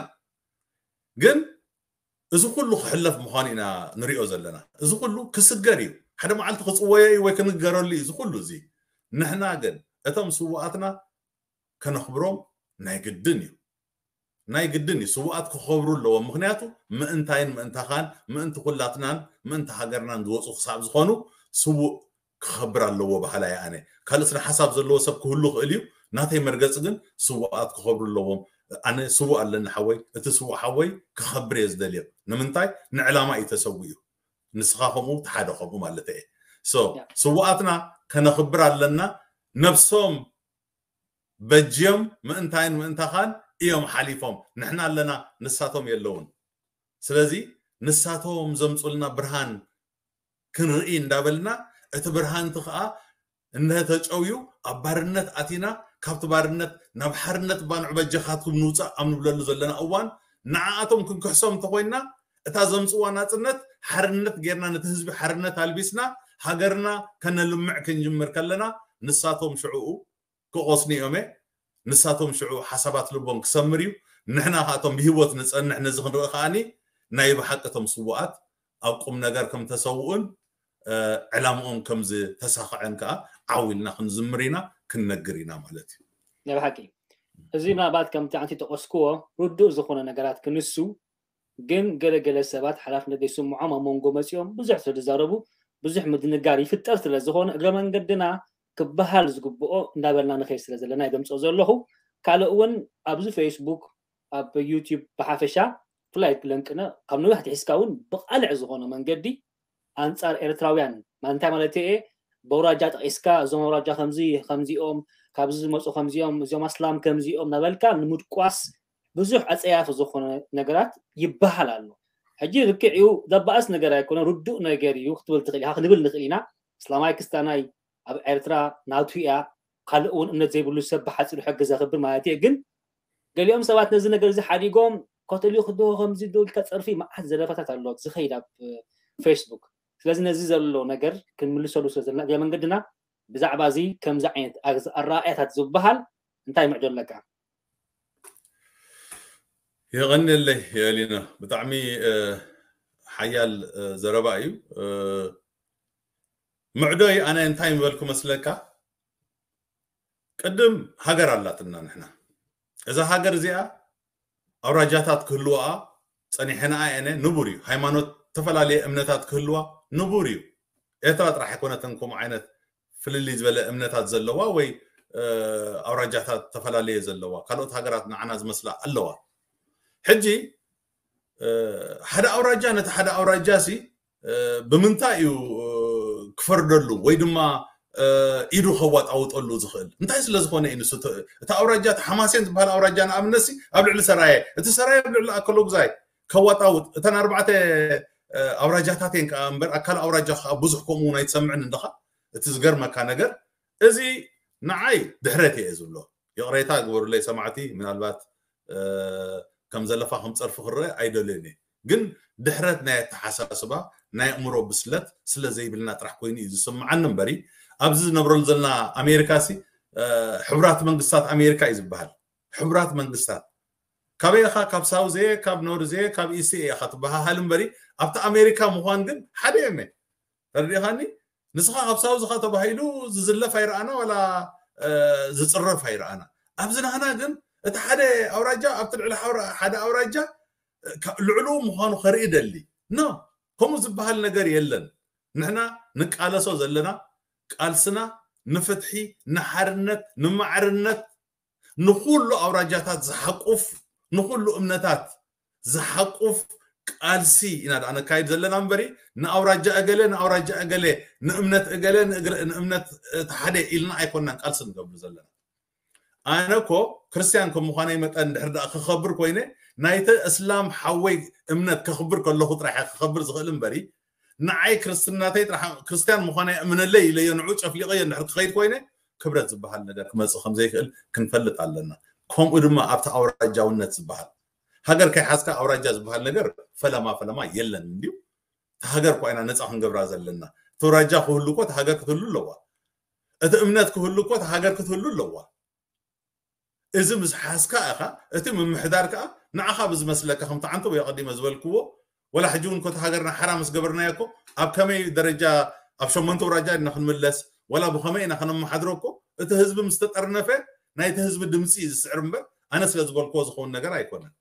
ግን እዚ ኩሉ ክሕለፍ ምዃኑ ኢና ንሪኦ ዘለና። እዚ ኩሉ ክስገር እዩ። ሓደ መዓልቲ ክጽወዮ እዩ ወይ ክንገረሉ እዩ እዚ ኩሉ እዚ። ንሕና ግን እቶም ስዉኣትና ከነኽብሮም ናይ ግድን እዩ። ናይ ግድን እዩ። ስዉኣት ክኸብሩ ኣለዎም። ምኽንያቱ ምእንታይን ምእንታኻን፣ ምእንቲ ኩላትናን፣ ምእንቲ ሃገርናን ዝወፁ ክሳብ ዝኾኑ ስዉእ ክኸብር ኣለዎ በሃላይ ኣነ። ካልእ ስነ ሓሳብ ዘለዎ ሰብ ክህሉ ይኽእል እዩ። ናተይ መርገፂ ግን ስዉኣት ክኸብሩ ኣለዎም። ኣነ ስዉእ ኣለኒ ሓወይ፣ እቲ ስዉእ ሓወይ ክኸብር እየ ዝደልዮ። ንምንታይ? ንዕላማ እዩ ተሰዊኡ። ንስኻ ከምኡ፣ እቲ ሓደ ከምኡ ማለት እየ። ሶ፣ ያ። ስዉኣትና ከነኽብር ኣለና። ነብሶም በጅዮም ምእንታይን ምእንታኻን እዮም ሓሊፎም። ንሕና ኣለና፣ ንሳቶም የለውን። ስለዚ ንሳቶም ዘምፁልና ብርሃን ክንርኢ እንዳበልና፣ እቲ ብርሃንቲ ከዓ እንተ ተጨውዩ ኣብ ባርነት ኣቲና፣ ካብቲ ባርነት ናብ ሓርነት ባንዑ በጀኻትኩም ንውፃእ ኣብ ንብለሉ ዘለና እዋን፣ ንዓኣቶም ክንክሕሶም እንተኮይንና፣ እታ ዘምፅዋ ናፅነት ሓርነት ጌርና፣ ነቲ ህዝቢ ሓርነት ኣልቢስና፣ ሃገርና ከነልምዕ ክንጅምር ከለና፣ ንሳቶም ሽዕኡ ክቆስኑ እዮም። ንሳቶም ሽዑ ሓሳባት ልቦም ክሰምር እዩ። ንሕና ከኣቶም ብህይወት ንፀንሕ ነዚ ክንርኢ ከኣኒ ናይ ብሓቂ እቶም ስውኣት ኣብ ቁም ነገር ከም ተሰውኡን ዕላምኦም ከም ዝተሳኸዐን ከዓ ዓው ኢልና ክንዝምር ኢና፣ ክንነግር ኢና ማለት እዩ። ናይ ብሓቂ እዚ ምናልባት ከምቲ ኣንቲ ተቆስክዎ ርዱእ ዝኾነ ነገራት ክንሱ ግን ገለገለ ሰባት ሓላፍነት ዘይስምዖም ኣብ መንጎ መፂኦም ብዙሕ ስለ ዝዛረቡ ብዙሕ ምድንጋር ይፍጠር ስለ ዝኾነ እግረ መንገድና ክበሃል ዝግብኦ እንዳበልና ንኸይድ ስለ ዘለና ይደምፆ ዘለኹ። ካልእ እውን ኣብዚ ፌስቡክ ኣብ ዩቲዩብ ብሓፈሻ ብፍላይ ለንቅነ ካብ ነዊሕ ትሒዝካ እውን ብቃልዕ ዝኾነ መንገዲ ኣንፃር ኤርትራውያን እንታይ ማለት እየ በውራጃ ጠቂስካ እዞም ኣውራጃ ከምዚ ከምዚኦም ካብዚ ዝመፁ ከምዚኦም እዚኦም ኣስላም ከምዚኦም ናበልካ ንምድቋስ ብዙሕ ኣፀያፊ ዝኾነ ነገራት ይበሃል ኣሎ። ሕጂ ልክዕ እዩ ዘባእስ ነገር ኣይኮነ ርዱእ ነገር እዩ ክትብል ትኽእል ኢኻ ክንብል ንኽእል ኢና። እስላማይ ክስታናይ ኣብ ኤርትራ ናቱ እያ ካልእ እውን እምነት ዘይብሉ ሰብ ብሓፂሩ ሕጊ ዘኽብር ማለት እየ። ግን ገሊኦም ሰባት ነዚ ነገር እዚ ሓዲጎም ካቶሊክ ዶ ከምዚ ዶ ኢልካ ፀርፊ መዓት ዘለፋታት ኣሎ ዝኸይድ ኣብ ፌስቡክ። ስለዚ ነዚ ዘሎ ነገር ክንምልሰሉ ስለ ዘለና እግረ መንገድና ብዛዕባ እዚ ከምዚ ዓይነት ኣረኣእያታት ዝበሃል እንታይ ምዕዶ ኣለካ? የቐንየለይ የሊና፣ ብጣዕሚ ሓያል ዘረባ እዩ። ምዕዶይ ኣነ እንታይ ምበልኩ መስለካ? ቅድም ሃገር ኣላትና ንሕና። እዛ ሃገር እዚኣ ኣውራጃታት ክህልዋ ፀኒሐንኣ የነ ንቡር እዩ። ሃይማኖት ተፈላለየ እምነታት ክህልዋ ንቡር እዩ። ኤርትራ ጥራሕ ኣይኮነትን ከምኡ ዓይነት ፍልልይ ዝበለ እምነታት ዘለዋ ወይ ኣውራጃታት ተፈላለየ ዘለዋ ካልኦት ሃገራት ንዓና ዝመስላ ኣለዋ። ሕጂ ሓደ ኣውራጃ ነቲ ሓደ ኣውራጃ ሲ ብምንታይ እዩ ክፈርደሉ ወይ ድማ ኢዱ ከዋጣውጠሉ ዝኽእል? እንታይ ስለ ዝኾነ እዩ ንሱ? እቲ ኣውራጃ እቲ ሓማሴን ዝበሃል ኣውራጃ ንኣብነት ሲ ኣብ ልዕሊ ሰራየ፣ እቲ ሰራየ ኣብ ልዕሊ ኣከለጉዛይ ከዋጣውጥ፣ እተን ኣርባዕተ ኣውራጃታት እየን ከዓ እምበር ኣካል ኣውራጃ ከዓ ብዙሕ ከምኡ እውን ኣይትሰምዕን እንደኻ። እቲ ዝገርመካ ነገር እዚ ንዓይ ድሕረት እየ ዝብሎ። ይቕሬታ ግበሩለይ ሰማዕቲ፣ ምናልባት ከም ዘለፋ ከም ፀርፊ ክረአ ኣይደልዮን እየ። ግን ድሕረት ናይ ኣተሓሳስባ ናይ ኣእምሮ ብስለት ስለ ዘይብልና ጥራሕ ኮይኑ እዩ ዝስምዓኒ እምበሪ ኣብዚ ዝነብረሉ ዘለና ኣሜሪካ ሲ ሕቡራት መንግስታት ኣሜሪካ እዩ ዝበሃል። ሕቡራት መንግስታት ካበይ ኢኻ? ካብ ሳውዝ እየ፣ ካብ ኖርዝ እየ፣ ካብ ኢስት እየ ኢኻ ትበሃሃል እምበሪ ኣብቲ ኣሜሪካ ምዃን ግን ሓደ እዮም። ተረዲእኻኒ? ንስኻ ካብ ሳውዝ ኢኻ ተባሂሉ ዝዝለፍ ኣይረኣና ዋላ ዝፅረፍ ኣይረኣና። ኣብዚ ናህና ግን እቲ ሓደ ኣውራጃ ኣብቲ ልዕሊ ሓደ ኣውራጃ ልዕሉ ምዃኑ ከርኢ ደሊ ኖ፣ ከምኡ ዝበሃል ነገር የለን። ንሕና ንቃለሶ ዘለና ቃልስና ንፍትሒ፣ ንሓርነት፣ ንማዕርነት፣ ንኩሉ ኣውራጃታት ዝሓቁፍ፣ ንኩሉ እምነታት ዝሓቁፍ ቃልሲ ኢና ደኣ ነካይድ ዘለና እምበሪ ንኣውራጃ እገለ ንኣውራጃ እገለ ንእምነት እገለ ንእምነት እቲ ሓደ ኢልና ኣይኮናን ቃልሲ ንገብር ዘለና። ኣነ እኮ ክርስትያን ከም ምዃነይ መጠን ድሕር ደኣ ክኸብር ኮይነ ናይቲ እስላም ሓወይ እምነት ከኽብር ከለኹ ጥራሕ ክኸብር ዝኽእል እምበሪ ንዓይ ክርስትናተይ ጥራሕ ክርስትያን ምዃነይ እምነለይ ኢለዮ ንዑ ጨፍሊቐዮ እንድሕር ክኸይድ ኮይነ ክብረት ዝበሃል ነገር ክመፅእ ከም ዘይክእል ክንፈልጥ ኣለና። ከምኡ ድማ ኣብቲ ኣውራጃውነት ዝበሃል ሃገር ከይሓዝካ ኣውራጃ ዝበሃል ነገር ፈለማ ፈለማ የለን እንድዩ። እቲ ሃገር እኳ ኢና ነፃ ክንገብራ ዘለና። እቲ ኣውራጃ ክህሉ እኮ እቲ ሃገር ክትህሉ ኣለዋ። እቲ እምነት ክህሉ እኮ እቲ ሃገር ክትህሉ ኣለዋ። እዚ ምስ ሓዝካ ኢኻ እቲ ምምሕዳር ከዓ ንዓኻ ብዝመስለካ ከምቲ ዓንተቦይ ኣቐዲመ ዝበልክዎ ወላ ሕጂ እውን ኮቲ ሃገርና ሓራ ምስ ገበርናዮ እኮ ኣብ ከመይ ደረጃ ኣብ ሸሞንተ ኣውራጃ ኢና ክንምለስ ወላ ብኸመይ ኢና ከነመሓድሮ እኮ እቲ ህዝቢ ምስ ተጠርነፈ ናይቲ ህዝቢ ድምፂ እዩ ዝስዕር እምበር ኣነ ስለ ዝበልክዎ ዝኸውን ነገር ኣይኮነን።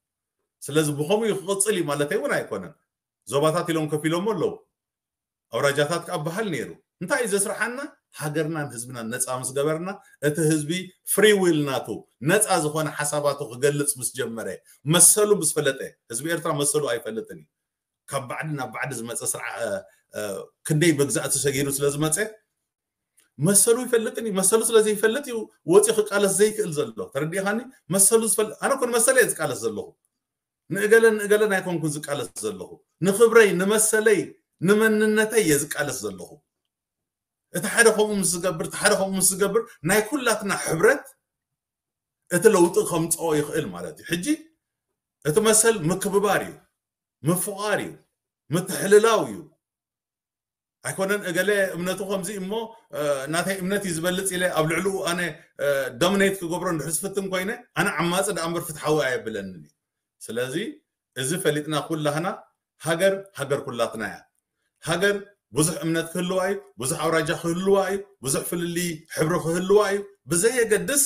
ስለዚ ብኸምኡ ክቕፅል እዩ ማለተይ እውን ኣይኮነን። ዞባታት ኢሎም ከፊሎሞ ኣለዉ። ኣውራጃታት ከዓ በሃል ነይሩ። እንታይ እዩ ዘስርሓና? ሃገርናን ህዝብናን ነፃ ምስ ገበርና እቲ ህዝቢ ፍሪ ዊል ናቱ ነፃ ዝኾነ ሓሳባቱ ክገልፅ ምስ ጀመረ መሰሉ ምስ ፈለጠ፣ ህዝቢ ኤርትራ መሰሉ ኣይፈልጥን እዩ። ካብ ባዕዲ ናብ ባዕዲ ዝመፀ ስርዓ ክንደይ መግዛእቲ ሰጊሩ ስለ ዝመፀ መሰሉ ይፈልጥን እዩ። መሰሉ ስለ ዘይፈልጥ እዩ ወፂኡ ክቃለስ ዘይክእል ዘሎ። ተረዲእኻኒ? መሰሉ ዝፈልጥ ኣነ ኮን መሰለ እየ ዝቃለስ ዘለኹ። ንእገለን ንእገለን ኣይኮንኩን ዝቃለስ ዘለኹ። ንኽብረይ፣ ንመሰለይ፣ ንመንነተይ እየ ዝቃለስ ዘለኹ። እቲ ሓደ ከምኡ ምስ ዝገብር፣ እቲ ሓደ ከምኡ ምስ ዝገብር፣ ናይ ኩላትና ሕብረት እቲ ለውጢ ከምፅኦ ይኽእል ማለት እዩ። ሕጂ እቲ መሰል ምክብባር እዩ፣ ምፍቓር እዩ፣ ምትሕልላው እዩ። ኣይኮነን እገለ እምነቱ ከምዚ እሞ ናተይ እምነት እዩ ዝበልፅ ኢለ ኣብ ልዕልኡ ኣነ ዶሚኔት ክገብሮ እንድሕር ዝፍትን ኮይነ ኣነ ዓማፂ ደኣ እምበር ፍትሓዊ ኣየብለንን እዩ። ስለዚ እዚ ፈሊጥና ኩላህና ሃገር ሃገር ኩላትና እያ። ሃገር ብዙሕ እምነት ክህልዋ እዩ፣ ብዙሕ ኣውራጃ ክህልዋ እዩ፣ ብዙሕ ፍልልይ ሕብሪ ክህልዋ እዩ። ብዘየገድስ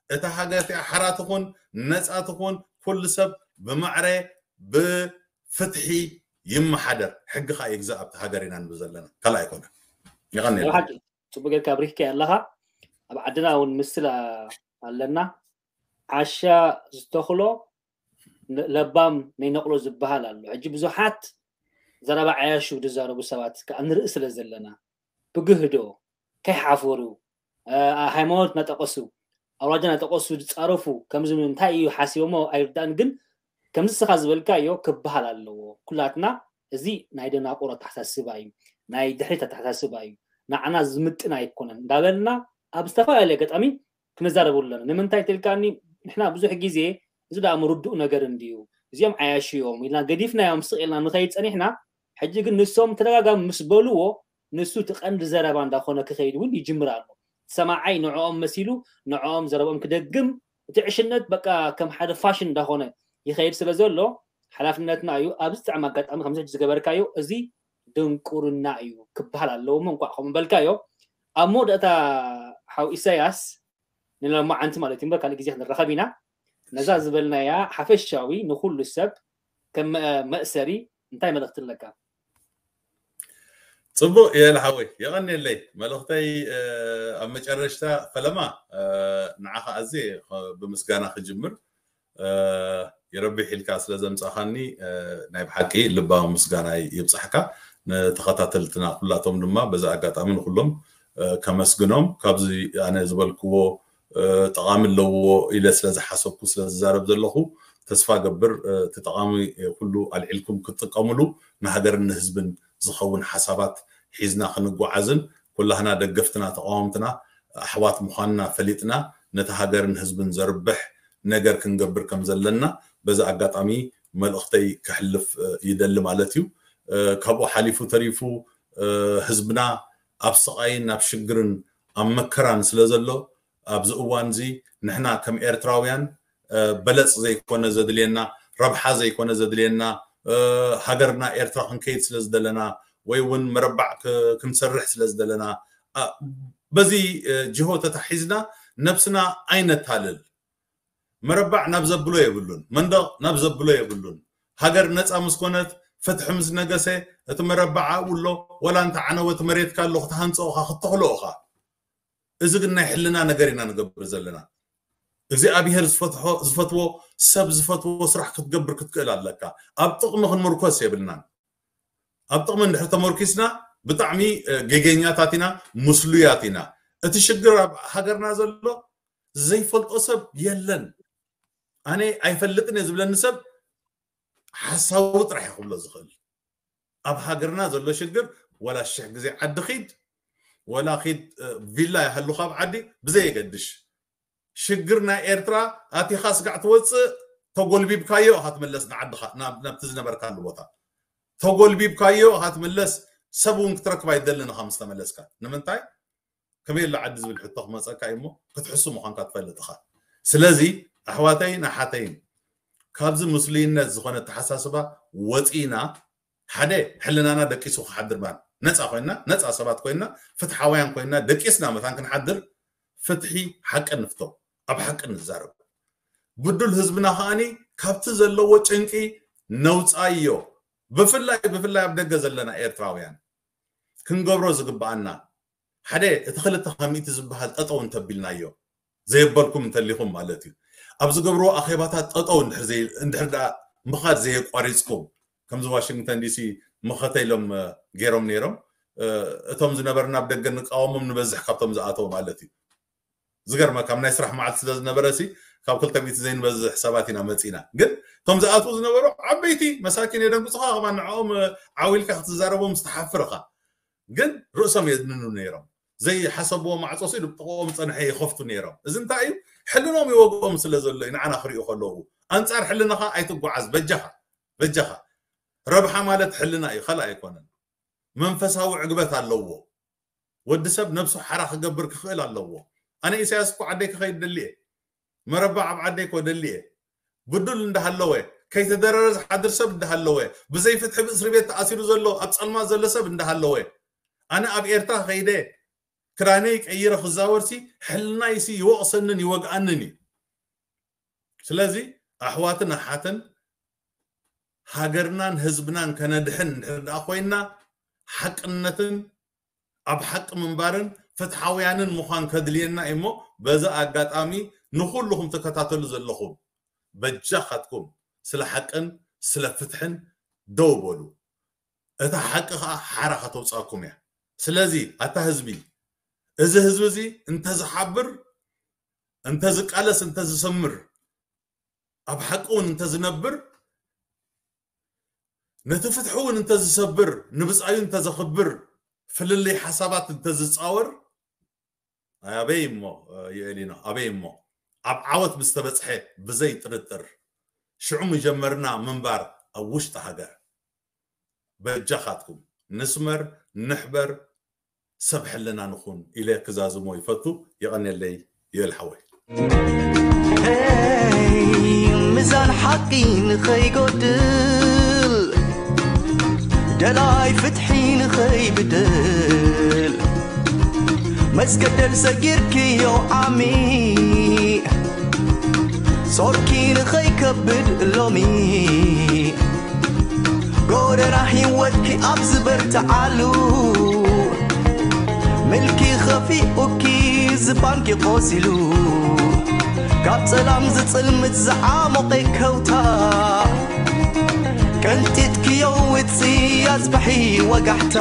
እታ ሃገር እቲኣ ሓራ ትኹን ነፃ ትኹን ኩሉ ሰብ ብማዕረ ብፍትሒ ይመሓደር፣ ሕጊ ከዓ ይግዛእ ኣብቲ ሃገር ኢና ንብል ዘለና። ካልእ ኣይኮነን። ይቐኒ። ብሓቂ ፅቡቅ ጌርካ ኣብሪህካ ኣለካ። ኣብ ዓድና እውን ምስል ኣለና። ዓሻ ዝተኽሎ ለባም ነይነቕሎ ዝበሃል ኣሎ። ሕጂ ብዙሓት ዘረባ ዓያሹ ዝዛረቡ ሰባት ከዓ ንርኢ ስለ ዘለና ብግህዶ ከይሓፈሩ ሃይማኖት እናጠቀሱ ኣውራጃ እናጠቀሱ ዝፃረፉ ከምዚ እንታይ እዩ ሓሲቦሞ ኣይርዳእን። ግን ከምዚ ስኻ ዝበልካዮ ክበሃል ኣለዎ። ኩላትና እዚ ናይ ደናቁር ኣተሓሳስባ እዩ፣ ናይ ድሕሪት ኣተሓሳስባ እዩ፣ ንዓና ዝምጥን ኣይኮነን እንዳበልና ኣብ ዝተፈላለየ ኣጋጣሚ ክንዛረበሉ ኣለና። ንምንታይ ትልካኒ ንሕና ብዙሕ ግዜ እዚ ደኣ ምርዱእ ነገር እንድዩ፣ እዚኦም ዓያሹ እዮም ኢልና ገዲፍናዮም ስቕ ኢልና ንኸይድ ፀኒሕና። ሕጂ ግን ንሶም ተደጋጋሚ ምስ በልዎ ንሱ እቲ ቀንዲ ዘረባ እንዳኾነ ክኸይድ እውን ይጅምር ኣሎ። ሰማዓይ ንዕኦም መሲሉ ንዕኦም ዘረብኦም ክደግም እቲ ዕሽነት በቃ ከም ሓደ ፋሽን እንዳኾነ ይኸይድ ስለ ዘሎ ሓላፍነትና እዩ። ኣብዚ ጥዕም ኣጋጣሚ ከምዚ ሕጂ ዝገበርካዮ እዚ ድንቁርና እዩ ክበሃል ኣለዎ። እሞ እንኳዕ ከምኡ በልካዮ። ኣብ መወዳእታ ሓው ኢሳያስ ንሎማዓንቲ ማለት እዩ እምበር ካልእ ግዜ ክንራኸብ ኢና። ነዛ ዝበልናያ ሓፈሻዊ ንኩሉ ሰብ ከም መእሰሪ እንታይ መልእኽቲ ኣለካ? ፅቡቅ የለ ሓወይ የቐንየለይ። መልእኽተይ ኣብ መጨረሽታ ፈለማ ንዓኻ ኣዝየ ብምስጋና ክጅምር። የረቢሕ ኢልካ ስለ ዘምፃኻኒ ናይ ብሓቂ ልባዊ ምስጋና ይብፃሕካ። ንተኸታተልትና ኩላቶም ድማ በዚ ኣጋጣሚ ንኩሎም ከመስግኖም። ካብዚ ኣነ ዝበልክዎ ጠቓሚ ኣለዎ ኢለ ስለ ዝሓሰብኩ ስለ ዝዛረብ ዘለኹ ተስፋ ገብር እቲ ጠቓሚ ኩሉ ኣልዒልኩም ክትጥቀምሉ ንሃገርን ንህዝብን ዝኸውን ሓሳባት ሒዝና ክንጓዓዝን ኩላህና ደገፍትና ተቃወምትና ኣሕዋት ምዃንና ፈሊጥና ነቲ ሃገርን ህዝብን ዘርብሕ ነገር ክንገብር ከም ዘለና በዚ ኣጋጣሚ መልእኽተይ ከሕልፍ ይደሊ ማለት እዩ። ካብኡ ሓሊፉ ተሪፉ ህዝብና ኣብ ስቓይን ኣብ ሽግርን ኣብ መከራን ስለ ዘሎ ኣብዚ እዋን እዚ ንሕና ከም ኤርትራውያን በለፅ ዘይኮነ ዘድልየና ረብሓ ዘይኮነ ዘድልየና ሃገርና ኤርትራ ክንከይድ ስለ ዝደለና ወይ እውን መረባዕ ክንሰርሕ ስለ ዝደለና በዚ ጅሆ ተታሒዝና ነብስና ኣይነታልል። መረባዕ ናብ ዘብሎ የብሉን፣ መንደቕ ናብ ዘብሎ የብሉን። ሃገር ነፃ ምስ ኮነት ፍትሒ ምስ ነገሰ እቲ መረባዕ ኣብኡ ኣሎ። ወላ እንተ ዓነወ እቲ መሬትካ ኣሎ ክትሃንፅኦ ኢኻ ክትተኽሎ ኢኻ። እዚ ግን ናይ ሕልና ነገር ኢና ንገብር ዘለና። እግዚኣብሄር ዝፈትዎ ሰብ ዝፈትዎ ስራሕ ክትገብር ክትክእል ኣለካ። ኣብ ጥቕሚ ክንምርኮስ የብልናን። ኣብ ጥቕሚ እንድሕር ተመርኪስና ብጣዕሚ ጌገኛታት ኢና፣ ምስሉያት ኢና። እቲ ሽግር ኣብ ሃገርና ዘሎ ዘይፈልጦ ሰብ የለን። ኣነ ኣይፈልጥን እየ ዝብለኒ ሰብ ሓሳዊ ጥራሕ ክብሎ ዝኽእል። ኣብ ሃገርና ዘሎ ሽግር ወላ ሽሕ ግዜ ዓዲ ኺድ ወላ ኺድ ቪላ ይሃሉ ካብ ዓዲ ብዘየገድሽ ሽግር ናይ ኤርትራ ኣቲኻ ስጋዕ ትወፅእ ተጎልቢብካዮ ኢኻ ትመለስ ንዓድኻ ናብቲ ዝነበርካሉ ቦታ ተጎልቢብካዮ ኢኻ ትምለስ። ሰብ እውን ክትረክብ ኣይደልን ኢኻ ምስ ተመለስካ። ንምንታይ ከመይ ኣሎ ዓዲ ዝብል ሕቶ ክመፀካ እዩ እሞ ክትሕሱ ምዃንካ ትፈልጥ ኢኻ። ስለዚ ኣሕዋተይን ኣሓተይን ካብዚ ምስሉይነት ዝኾነ ኣተሓሳስባ ወፂና ሓደ ሕልናና ደቂሱ ክሓድር ማለት ነፃ ኮይና ነፃ ሰባት ኮይና ፍትሓውያን ኮይና ደቂስና መታን ክንሓድር ፍትሒ ሓቂ ንፍቶ ኣብ ሓቂ ንዛረብ። ብዱል ህዝብና ከዓኒ ካብቲ ዘለዎ ጭንቂ ነውፃዮ። ብፍላይ ብፍላይ ኣብ ደገ ዘለና ኤርትራውያን ክንገብሮ ዝግብኣና ሓደ እቲ ክልተ ካብ ሚእቲ ዝበሃል ጠጠው እንተቢልናዮ ዘየበልኩም እንተሊኹም ማለት እዩ። ኣብ ዝገብርዎ ኣኼባታት ጠጠው እንድሕር ደኣ ምኻድ ዘየቋሪፅኩም ከምዚ ዋሽንግተን ዲሲ መኸተ ኢሎም ገይሮም ነይሮም። እቶም ዝነበርና ኣብ ደገ ንቃወሞም ንበዝሕ ካብቶም ዝኣተው ማለት እዩ። ዝገርመካ፣ ኣብ ናይ ስራሕ መዓልቲ ስለ ዝነበረ ሲ ካብ ክልተ ሚእቲ ዘይንበዝሕ ሰባት ኢና መፂና። ግን እቶም ዝኣትዉ ዝነበሩ ዓበይቲ መሳኪን የደንግፁኻ። ከማን ንዕኦም ዓው ኢልካ ክትዛረቦም ዝተሓፍርኻ። ግን ርእሶም የድንኑ ነይሮም። ዘይሓሰብዎ ማዕፆ ሲ ብጥቕኦም ፀንሐ ይኸፍቱ ነይሮም። እዚ እንታይ እዩ? ሕልኖም ይወግኦም ስለ ዘሎ እዩ፣ ንዓና ክሪኡ ከለዉ። ኣንፃር ሕልንኻ ኣይትጓዓዝ። በጃኻ በጃኻ። ረብሓ ማለት ሕልና እዩ፣ ካልእ ኣይኮነን። መንፈሳዊ ዕግበት ኣለዎ። ወዲ ሰብ ነብሱ ሓራ ክገብር ክኽእል ኣለዎ። ኣነ ኢሳያስ እኮ ዓደይ ክኸይድ ደልየ፣ መረባ ኣብ ዓደይ እኮ ደልየ። ብዱል እንዳሃለወ፣ ከይተደረረ ዝሓድር ሰብ እንዳሃለወ፣ ብዘይ ፍትሒ ብእስሪ ቤት ተኣሲሩ ዘሎ ኣብ ፀልማት ዘሎ ሰብ እንዳሃለወ፣ ኣነ ኣብ ኤርትራ ከይደ ክዳነይ ቀይረ ክዛወርሲ ሕልናይሲ ይወቕሰንን ይወግኣንን እዩ። ስለዚ ኣሕዋትን ኣሓትን ሃገርናን ህዝብናን ከነድሕን እንድሕር ደኣ ኮይና ሓቅነትን ኣብ ሓቂ ምንባርን ፍትሓውያንን ምዃን ከድልየና እዩ እሞ በዚ ኣጋጣሚ ንኹልኹም ትከታተሉ ዘለኹም በጃኻትኩም ስለ ሓቅን ስለ ፍትሕን ደው በሉ። እታ ሓቂ ኸዓ ሓራ ከተውፅኣኩም እያ። ስለዚ ኣታ ህዝቢ፣ እዚ ህዝቢ እዚ እንተዝሓብር፣ እንተዝቃለስ፣ እንተዝሰምር፣ ኣብ ሓቂ እውን እንተዝነብር፣ ነቲ ፍትሒ እውን እንተዝሰብር፣ ንብፃዩ እንተዘኽብር፣ ፍልልይ ሓሳባት እንተዝፃወር፣ ኣበይ እሞ የእሊኖ፣ ኣበይ እሞ ኣብ ዓወት ምስተበፅሐ ብዘይ ጥርጥር ሽዑ ምጀመርና ምንባር ኣብ ውሽጢ ሃገር። በጃኻትኩም ንስመር፣ ንሕበር፣ ሰብ ሕልና ንኹን ኢለ ክዛዝሞ ይፈቱ። የቐንየለይ ይበል ሓወይ። ሚዛን ሓቂ ንኸይጎድል፣ ደላይ ፍትሒ ንኸይብድል፣ መስገደል ሰጊርክዮ ዓሚ፣ ጾርኪ ንኸይከብድ ሎሚ፣ ጎደና ህይወትኪ ኣብ ዝበርትዓሉ፣ ምልኪ ኸፊኡኪ ዝባንኪ ቆሲሉ፣ ካብ ጸላም ዝጽልምት ዝዓሞቐ ከውታ፣ ቀንጢጥክዮ ውጽእ ኣጽብሒ ወጋሕታ።